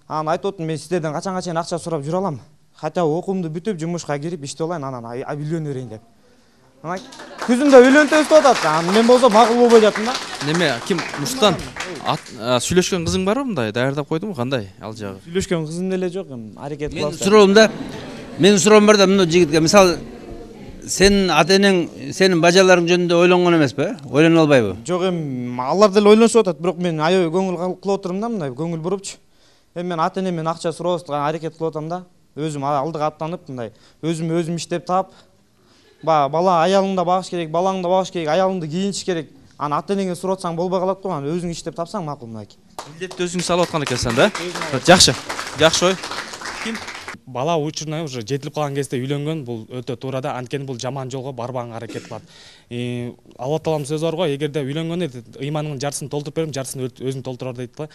Анан айтып отум, мен сиздерден качанга чейин акча сурап жүрө алам. Хотя окуумду бүтүп, жумушка кирип иштеп алайын, анан үйлөнө берейин деп. Анан күзүндө үйлөнтөбүз деп атат. Мен болсо макул болбой жатам да. Неме, ким Муштан? Сүйлөшкөн кызың барбы мындай? Даярдап койдуңбу, кандай ал жагы? Сүйлөшкөн кызым деле жок, аракет кылабыз. Менин суроом бар да, мына жигитке, мисалы сенин ата-энең, сенин бажаларың жөнүндө ойлонгон эмеспи? Ойлоно албайбы? Жок, алар деле ойлонушуп атат, бирок мен аябай көңүл кылып отурум да, мындай көңүл бурупчу. Мен ата-энемден акча сурабастыга аракет кылып атам да. Өзүм алдыга аттанып, мындай өзүм иштеп таап, бала аялыңды багыш керек, балаңды багыш керек, аялыңды кийиниш керек. аны ата энеңе сурап атсаң болбой калат го, аны өзүң иштеп тапсаң макул мынакей. Милдетти өзүң салып аткан экенсиң да? Жакшы. Жакшы ой. Ким? Бала учурунан уже жетилип калган кезде үйлөнгөн бул өтө туура да, анткени бул жаман жолго барбаганга аракет кылат. Алла Тааланын сөзү бар го, эгерде үйлөнгөндө ыйманыңдын жартысын толтуруп берем, жартысын өзүң толтурар дейт го.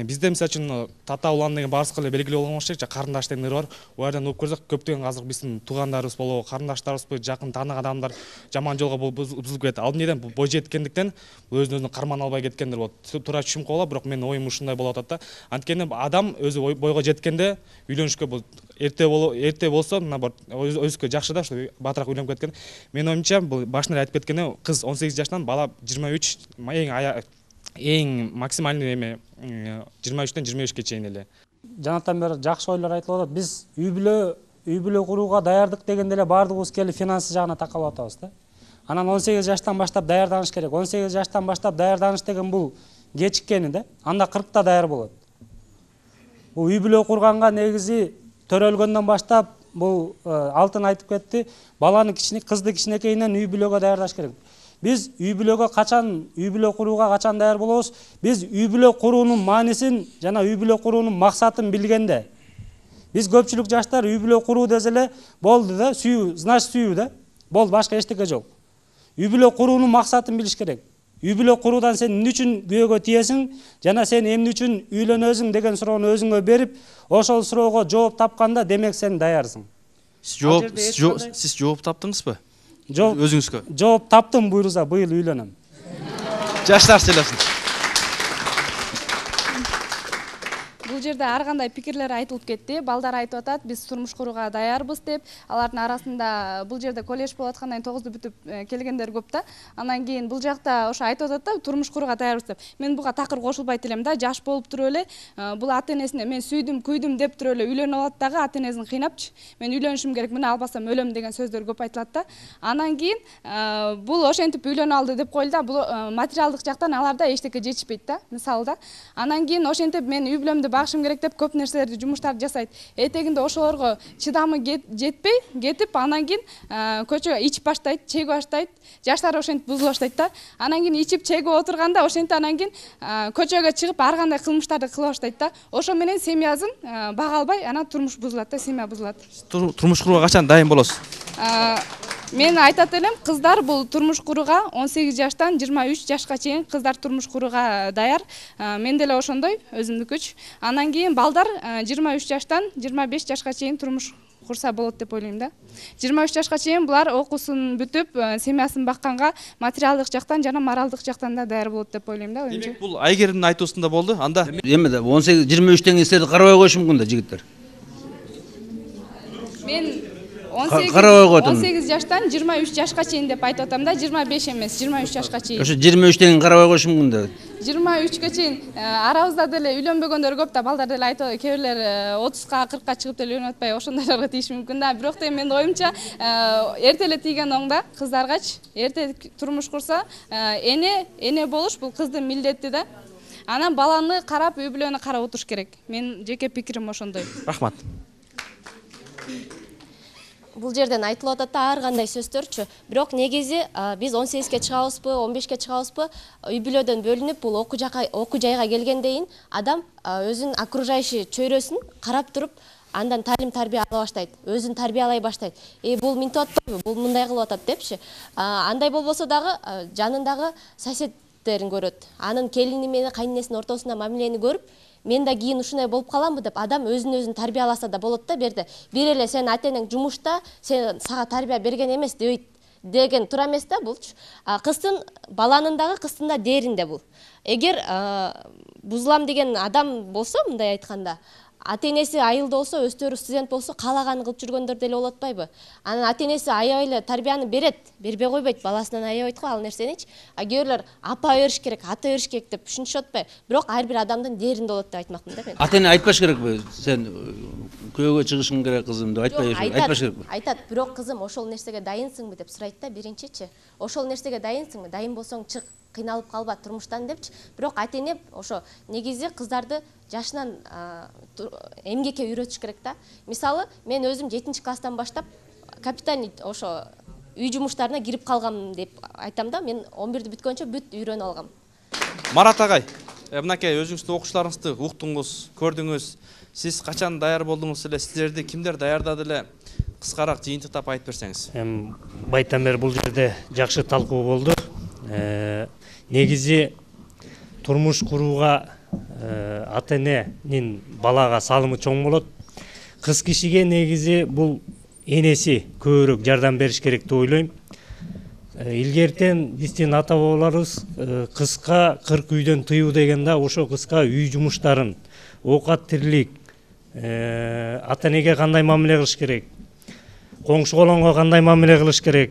Бизде мисалы үчүн тата улан деген баарыбызга эле белгилүү болгон окшойт, карындаш деген ыр бар. Ал жерден угуп көрсөк, көптөгөн азыр биздин туугандарыбыз болобу, карындаштарыбызбы, жакын тааныган адамдар жаман жолго бузулуп кетет. Ал эмнеден бой жеткендиктен, өзүн карман албай кеткендер болот. Туура түшүнүп калат, бирок менин оюм ушундай болуп атат да. Анткени адам өзү бойго жеткенде үйлөнүшкө бул эрте болсо мына өзүкө жакшы да, ушу батыраак үйлөнүп кеткен. Менин оюмча бул башында айтып кеткендей, кыз 18 жаштан, бала 23, эң максимальный эме 23-тен 25-ке чейин эле. Жанатан бери жакшы ойлор айтылып атат. Биз үй бүлө курууга даярдык дегенде эле баардыгыбыз келип финансы жагына такалып атабыз да. Анан 18 жаштан баштап даярданыш керек. 18 жаштан баштап даярданыш деген бул кечиккени да. Анда 40та даяр болот. Бул үй бүлө курганга негизи төрөлгөндөн баштап бул Алтын айтып кетти, баланы кызды кичинекейинен үй бүлөгө даярдаш керек. Биз үй бүлөгө курууга качан даяр болобуз? Биз үй бүлө куруунун маанисин жана үй бүлө куруунун максатын билгенде. Биз көпчүлүк жаштар үй бүлө куруу десе эле болду да, сүйүү, значит сүйүү да. Болду, башка эчтеке жок. Үй бүлө куруунун максатын билиш керек. Үй бүлө куруудан сен эмне үчүн күйөөгө тиесиң жана сен эмне үчүн үйлөнөсүң деген суроону өзүңө берип, ошол суроого жооп тапканда демек сен даярсың. Сиз жооп таптыңызбы? Өзүңүзгө. Жооп таптым, буйруза, быйыл үйлөнөм. Жаштар сүйлөсүн. Бул жерде ар кандай пикирлер айтылып кетти. Балдар айтып атат, биз турмуш курууга даярбыз деп. Алардын арасында бул жерде колледж болуп аткандан кийин 9-ду бүтүп келгендер көп да. Анан кийин бул жакта ошо айтып атат да, турмуш курууга даярбыз деп. Мен буга такыр кошулбайт элем да. Жаш болуп туруп эле бул ата энесине мен сүйдүм, күйдүм деп туруп эле үйлөнүп алат дагы ата энесин кыйнапчы. Мен үйлөнүшүм керек, мына албасам өлөм деген сөздөр көп айтылат да. Анан кийин бул ошентип үйлөнүп алды деп коелу да. Бул материалдык жактан аларда эчтеке жетишпейт да, мисалы да. Анан кийин ошентип мен үй бүлөмдү багышым керек деп көп нерселерди, жумуштарды жасайт. Этегинде ошолорго чыдамы жетпей кетип, анан кийин көчөгө ичип баштайт, чегип баштайт. Жаштар ошентип бузула баштайт да. Анан кийин ичип чегип отурганда ошентип анан кийин көчөгө чыгып ар кандай кылмыштарды кыла баштайт да. Ошо менен семьясын бага албай, анан турмуш бузулат да, семья бузулат. Турмуш курууга качан дайын болосуз? Мен айтат элем, кыздар бул турмуш курууга 18 жаштан 23 жашка чейин кыздар турмуш курууга даяр. Мен деле ошондой, өзүмдүкүч. Анан кийин балдар 23 жаштан 25 жашка чейин турмуш курса болот деп ойлойм да. 23 жашка чейин булар окуусун бүтүп, семьясын бакканга материалдык жактан жана моралдык жактан да даяр болот деп ойлойм да. Демек бул Айгеримдин айтуусунда болду. Анда эме да 18-23 силерди карабай коюшу мүмкүн да, жигиттер. Мен 18 жаштан 23 жашка чейин деп айтып атам да, 25 эмес, 23 жашка чейин. Ошо 23 карабай коюшу мүмкүн да. 23-ке чейин арабызда деле үйлөнбөгөндөр көп да, балдар деле айтып, кээ бирлер 30-ка, 40-ка чыгып деле үйлөнүп атпай ошондойлорго тийиши мүмкүн да. Бирок менин оюмча эрте эле тийген оң да, кыздаргач. Эрте турмуш курса, эне болуш бул кыздын милдети да. Анан баланы карап, үй бүлөнү карап отуруш керек. Мен жеке пикирим ошондой. Рахмат. Бул жерден айтылып атат ар кандай сөздөрчү. Бирок негизи биз 18-ке чыгабызбы, 15-ке чыгабызбы, үй бүлөдөн бөлүнүп бул окуу жайга келгенден кийин адам өзүнүн окружающий чөйрөсүн карап туруп, андан талим тарбия ала баштайт, өзүн тарбиялай баштайт. Бул минтип атпайбы, бул мындай кылып атат депчи. Андай болбосо дагы жанындагы соседтерин көрөт. Анын келини менен кайненесинин ортосунда мамилени көрүп, мен да кийин ушундай болуп каламбы деп адам өзүн тарбияласа да болот да. Берде бир эле сен ата энең жумушта, сен сага тарбия берген эмес деген тура эмес да булчу. Кыздын, баланын дагы кыздын да дээринде бул. Эгер бузулам деген адам болсо, мындай айтканда, ата энеси айылда болсо, өздөрү студент болсо, каалаганын кылып жүргөндөр деле болот атпайбы? Анан ата энеси аябай эле тарбияны берет, бербей койбойт, баласынан аябайт го ал нерсеничи. Кээ бирлер апа бериш керек, ата бериш керек деп түшүнүшүп атпайбы? Бирок ар бир адамдын дээринде болот деп айтмакмын да мен. Ата эне айтпаш керекпи? Сен күйөөгө чыгышың керек кызым деп айтпаш керекпи? Айтат, бирок кызым ошол нерсеге дайынсыңбы деп сурайт да биринчичи. Ошол нерсеге дайынсыңбы? Дайын болсоң чык, кыйналып калба турмуштан депчи. Бирок ата эне ошо негизи кыздарды жашынан эмгекке үйрөтүш керек да. Мисалы, мен өзүм 7-класстан баштап капитальный ошо үй жумуштарына кирип калгам деп айтам да. Мен 11-ди бүткөнчө бүт үйрөнүп алгам. Марат агай, мынакей өзүңүздүн окуучуларыңызды уктуңуз, көрдүңүз. Сиз качан даяр болдуңуз эле? Силерди кимдер даярдады эле? Кыскараак жыйынтыктап айтып берсеңиз. Байттан бери бул жерде жакшы талкуу болду. Негизи турмуш курууга ата-эненин балага салымы чоң болот. Кыз кишиге негизи бул энеси көбүрөөк жардам бериш керек деп ойлойм. Илгертен биздин ата бабаларыбыз кызга 40 үйдөн тыюу деген да ошо кызга үй жумуштарын, оокат тирлик, ата-энеге кандай мамиле кылыш керек, коңшу колонго кандай мамиле кылыш керек,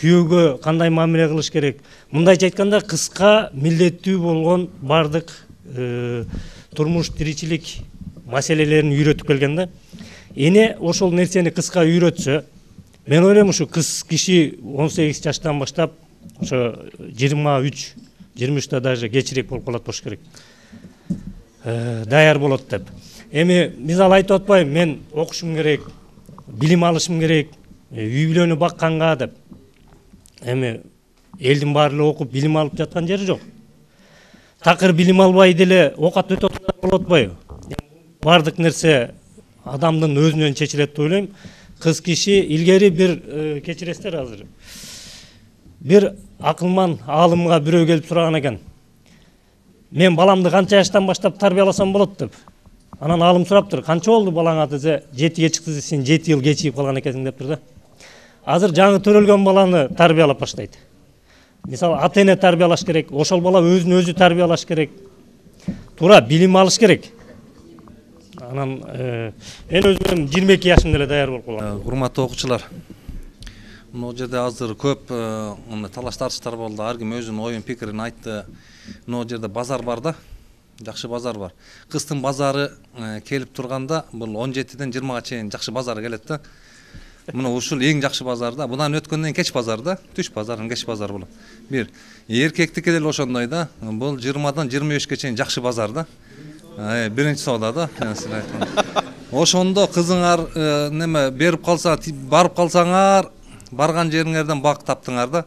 күйөөгө кандай мамиле кылыш керек. Мындайча айтканда кызга милдеттүү болгон бардык турмуш тиричилик маселелерин үйрөтүп келген да. Эне ошол нерсени кызга үйрөтсө, мен ойлойм ушу кыз киши 18 жаштан баштап ошо 23-та даже кечирээк болуп калат болуш керек. Даяр болот деп. Эми мисалы айтып атпайм, мен окушум керек, билим алышым керек, үй бүлөнү бакканга деп. Эми элдин баары эле окуп билим алып жаткан жери жок. Такыр билим албай деле оокат өтө болот атпайбы? Бардык нерсе адамдын өзүнөн чечилет деп ойлойм. Кыз киши илгери бир кечиресиздер азыр. Бир акылман аалымга бирөө келип сураган экен. Мен баламды канча жаштан баштап тарбияласам болот деп. Анан аалым сураптыр, канча болду балаңа десе, 7-ге чыкты десе, сен 7 жыл кечигип калган экенсиң дептир да. Азыр жаңы төрөлгөн баланы тарбиялап баштайт. Мисалы ата-эне тарбиялаш керек, ошол бала өзүн өзү тарбиялаш керек. Туура билим алыш керек. Анан мен өзүм 22 жашымда эле даяр болуп калгам. Урматтуу окуучулар. Мына жерде азыр көп талаш тартыштар болду. Ар ким өзүнүн оюн пикирин айтты. Мына жерде базар бар да. Жакшы базар бар. Кыздын базары келип турганда бул 17-ден 20-га чейин жакшы базар келет да. Мына ушул эң жакшы базар да. Будан өткөндөн кеч базар да. Түш базарын кеч базар болот. Бир эркектики деле ошондой да. Бул 20-дан 25-ке чейин жакшы базар да. Биринчи соода да. Ошондо кызыңар неме берип калса, барып калсаңар, барган жериңерден бак таптыңар да.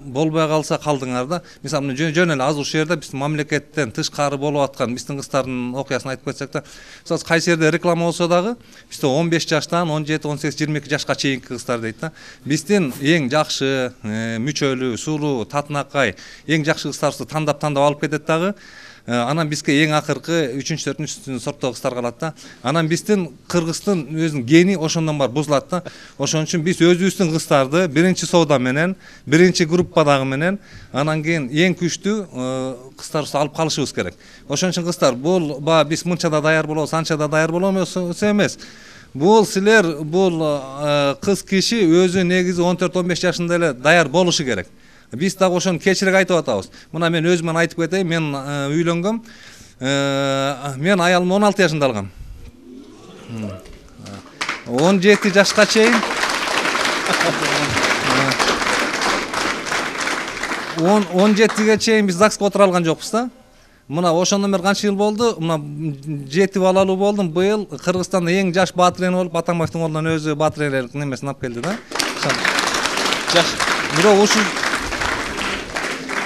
Болбой калса калдыңар да. Мисалы жөн эле азыр ушул жерде биздин мамлекеттен тышкары болуп аткан биздин кыздардын окуясын айтып кетсек да, мисалы кайсы жерде реклама болсо дагы бизде 15 жаштан 17, 18, 22 жашка чейинки кыздар дейт да. Биздин эң жакшы мүчөлүү, сулуу, татынакай, эң жакшы кыздарыбызды тандап алып кетет дагы. Анан бизге эң акыркы 3-4 сорттогу кыздар калат да. Анан биздин Кыргыздын өзүнүн гени ошондон бар бузулат да. Ошон үчүн биз өзүбүздүн кыздарды биринчи соода менен, биринчи группадагы менен, анан кийин эң күчтүү кыздарыбызды алып калышыбыз керек. Ошон үчүн кыздар, бул биз мынча да даяр болобуз, анча да даяр болобуз эмес. Бул силер, бул кыз киши өзү негизи 14-15 жашында эле даяр болушу керек. Биз дагы ошону кечирээк айтып атабыз. Мына мен өзүмөн айтып кетейин, мен үйлөнгөм. Мен аялымды 16 жашында алгам. 17 жашка чейин 17ге чейин биз ЗАГСка отура алган жокпуз да. Мына ошондон бери канча жыл болду? Мына 7 балалуу болдум. Быйыл Кыргызстанда эң жаш баатырен болуп, Атамбаевдин колунан өзү баатырелик немесин алып келди да. Бирок ушул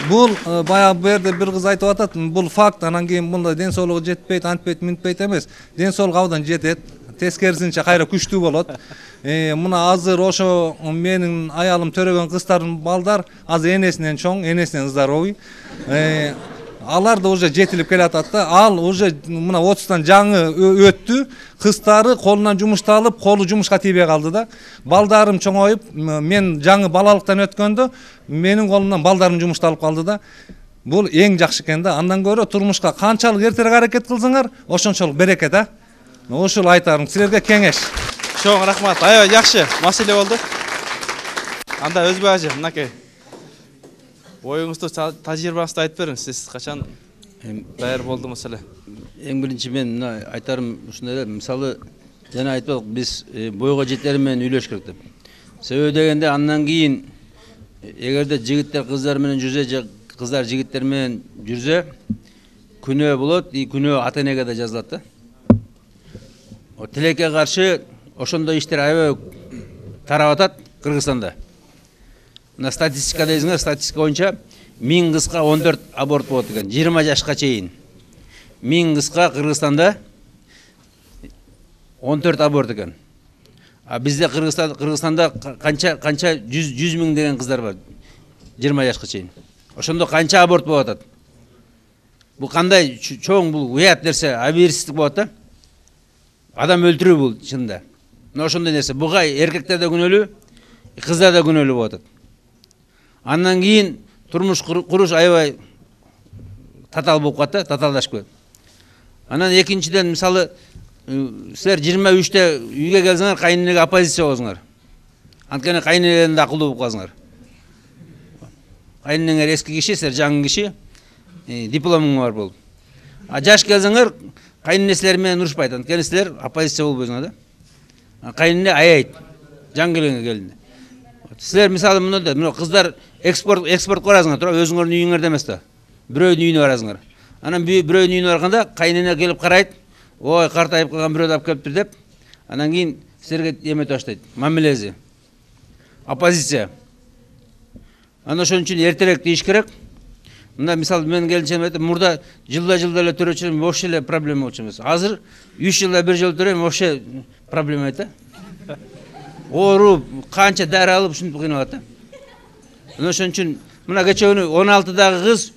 бул баягы бу жерде бир кыз айтып атат, бул факт, анан кийин мындай ден соолугу жетпейт, антпейт, минтпейт эмес. Ден соолугу абдан жетет. Тескерисинче кайра күчтүү болот. Мына азыр ошо менин аялым төрөгөн кыздардын балдар азыр энесинен чоң, энесинен здоровый. Алар да уже жетилип келатат да. Ал уже мына 30-тан жаңы өттү. Кыздары колунан жумушту алып, колу жумушка тийбей калды да. Балдарым чоңоюп, мен жаңы балалыктан өткөндө менин колумдан балдарым жумушту алып калды да. Бул эң жакшы экен да. Андан көрө турмушка канчалык эртерээк аракет кылсаңар, ошончолук береке да. Ушул айтарым силерге кеңеш. Чоң рахмат. Аябай жакшы маселе болду. Анда Өзбек ажы, мынакей. Оюңузду, тажрыйбаңызды айтып бериңиз. Сиз качан даяр болдуңуз эле? Эң биринчи мен айтарым ушундай эле, мисалы жана айтып биз бойго жетери менен үйлөш керек деп. Себеби дегенде андан кийин эгерде жигиттер кыздар менен жүрсө же кыздар жигиттер менен жүрсө күнөө болот, күнөө ата-энеге да жазылат да. Тилекке каршы ошондой иштер аябай тарап атат Кыргызстанда. мына статистика дейсиңер, статистика боюнча 1000 кызга 14 аборт болот экен, 20 жашка чейин. 1000 кызга Кыргызстанда 14 аборт экен. А бизде Кыргызстанда канча 100 миң деген кыздар бар, 20 жашка чейин. Ошондо канча аборт болуп атат? Бул кандай чоң, бул уят нерсе, абийирсиздик болот да. Адам өлтүрүү бул чынында. Мына ошондой нерсе. Буга эркектер да күнөөлүү, кыздар да күнөөлүү болуп атат. Андан кийин турмуш куруш аябай татаал болуп калат да, татаалдашып кетет. Анан экинчиден, мисалы, силер 23-те үйгө келсеңер, кайненеге оппозиция болсуңар. Анткени кайненелерин да акылдуу болуп калсыңар. Кайненеңер эски киши, силер жаңы киши, дипломуң бар болуп. А жаш келсеңер, кайнене силер менен урушпайт, анткени силер оппозиция болбойсуңар да. Кайнене аяйт, жаңы келгенге келинде. Силер мисалы мындай, мына кыздар экспорт барасыңар, тура өзүңөрдүн үйүңөрдө эмес да. Бирөөнүн үйүнө барасыңар. Анан бирөөнүн үйүнө барганда кайнене келип карайт, ой, картайып калган бирөөдү алып келиптир деп, анан кийин силерге эмете баштайт, мамилеси. Оппозиция. Анан ошон үчүн эртерээк тийиш керек. Мында мисалы мен келинчем айтып, мурда жылда эле төрөчүм, вообще эле проблема болчу эмес. Азыр 3 жылда бир жолу төрөйм, вообще проблема айта. Ооруп, канча дары алып ушинтип кыйналат да. Ошон үчүн мына кече күнү 16-дагы кыз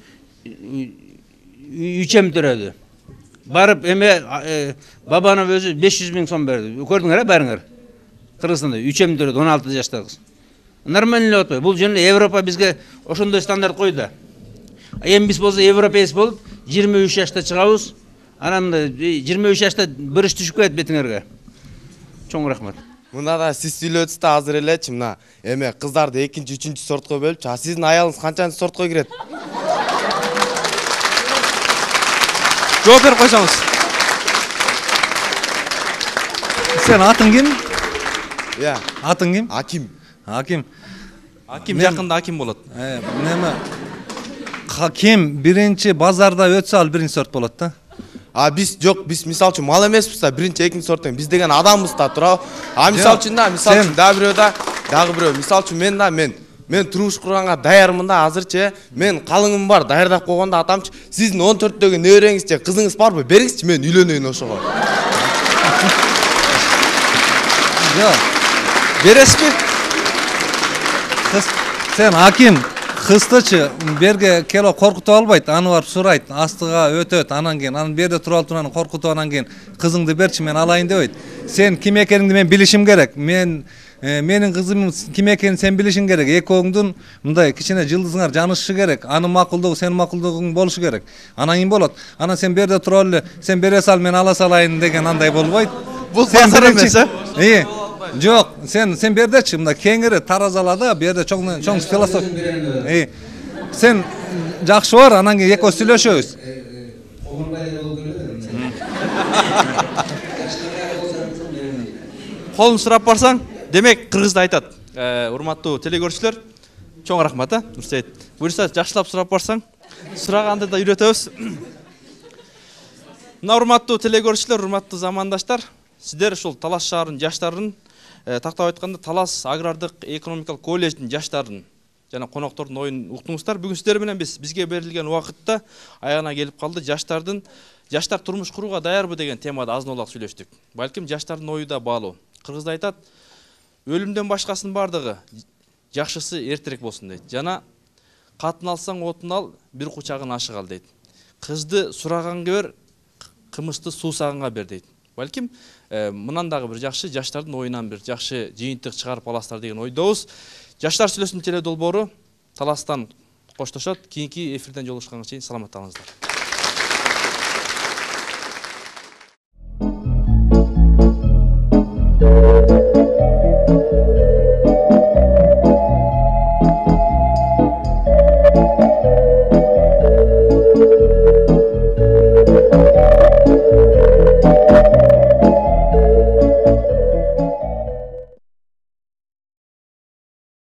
3 төрөдү. Барып эме Бабанов өзү 500 миң сом берди. Көрдүңөр баарыңар? Кыргызстанда 3 төрөдү 16 жаштагы кыз. Нормально эле атпайбы? Бул жөн Европа бизге ошондой стандарт койду. Эми биз болсо европеец болуп 23 жашта чыгабыз. Анан 23 жашта бір иш түшүп кетет бетиңерге. Чоң рахмат. Мында да сиз сүйлөдүңүз да азыр элечи, мына эме кыздарды 2-3 сортко бөлүп, сиздин аялыңыз канчанчы сортко кирет? Жооп берип койсоңуз. Сен атың ким? Иә. Атың ким? Аким. Аким. Аким жакында аким болот. Неме? Ким биринчи базарда өтсө ал биринчи сорт болот да. Биз жок, биз мисалы үчүн мал эмеспиз да, биринчи, экинчи сорттон. Биз деген адамбыз да, туурабы? Мисалы үчүн дагы бирөө, мисалы үчүн мен турмуш курганга даярмын да, азырчы. Мен калыңым бар, даярдап койгондо атамчы, сиздин 14-дөгү небереңиз же кызыңыз барбы? Бериңизчи, мен үйлөнөйүн ошого. Жок. Бересизби? Сен аким кыздычы берге келип коркутуп албайт, аны барып сурайт, астыга өтөт, анан кийин анын берде туруп алып турган коркутуп, анан кийин кызыңды берчи, мен алайын дебейт. Сен ким экениңди мен билишим керек. Менин кызым ким экенин сен билишиң керек. Экөөңдүн мындай кичине жылдызыңар жанышышы керек. Анын макулдугу сенин макулдугуң болушу керек. Анан кийин болот. Анан сен берде туруп эле, сен бере сал, мен ала салайын деген андай болбойт. Бул базар эмес, Жок, сен бердечи, мында кеңири таразалада, берде чоң философия. Сен жакшы бар, анан кийин экөөбүз сүйлөшөбүз. Колун сурап барсаң, демек кыргызда айтат. Урматтуу телекөрүүчүлөр, чоң рахмат, Нурсейит. Буюрса жакшылап сурап барсаң, сураганды да үйрөтөбүз. Мына урматтуу телекөрүүчүлөр, урматтуу замандаштар, сиздер ушул Талас шаарынын жаштарын, тактап айтканда Талас агрардык экономикалык колледждин жаштарын жана коноктордун оюн уктуңуздар. Бүгүн сиздер менен бизге берилген убакытта аягына келип калды. Жаштар турмуш курууга даярбы деген темада азын-олак сүйлөштүк. Балким жаштардын ою да баалуу. Кыргызда айтат, өлүмдөн башкасынын бардыгы жакшысы эртерээк болсун дейт. Жана катын алсаң отун ал, бир кучагын ашык ал дейт. Кызды сураганга бер, кымызды суусаганга бер дейт. Балким мындан дагы бир жакшы жаштардын оюнан бир жакшы жыйынтык чыгарып аласыздар деген ойдобуз. Жаштар сүйлөсүн теле долбоору Таластан коштошот. Кийинки эфирден жолугушканга чейин саламаттаныңыздар.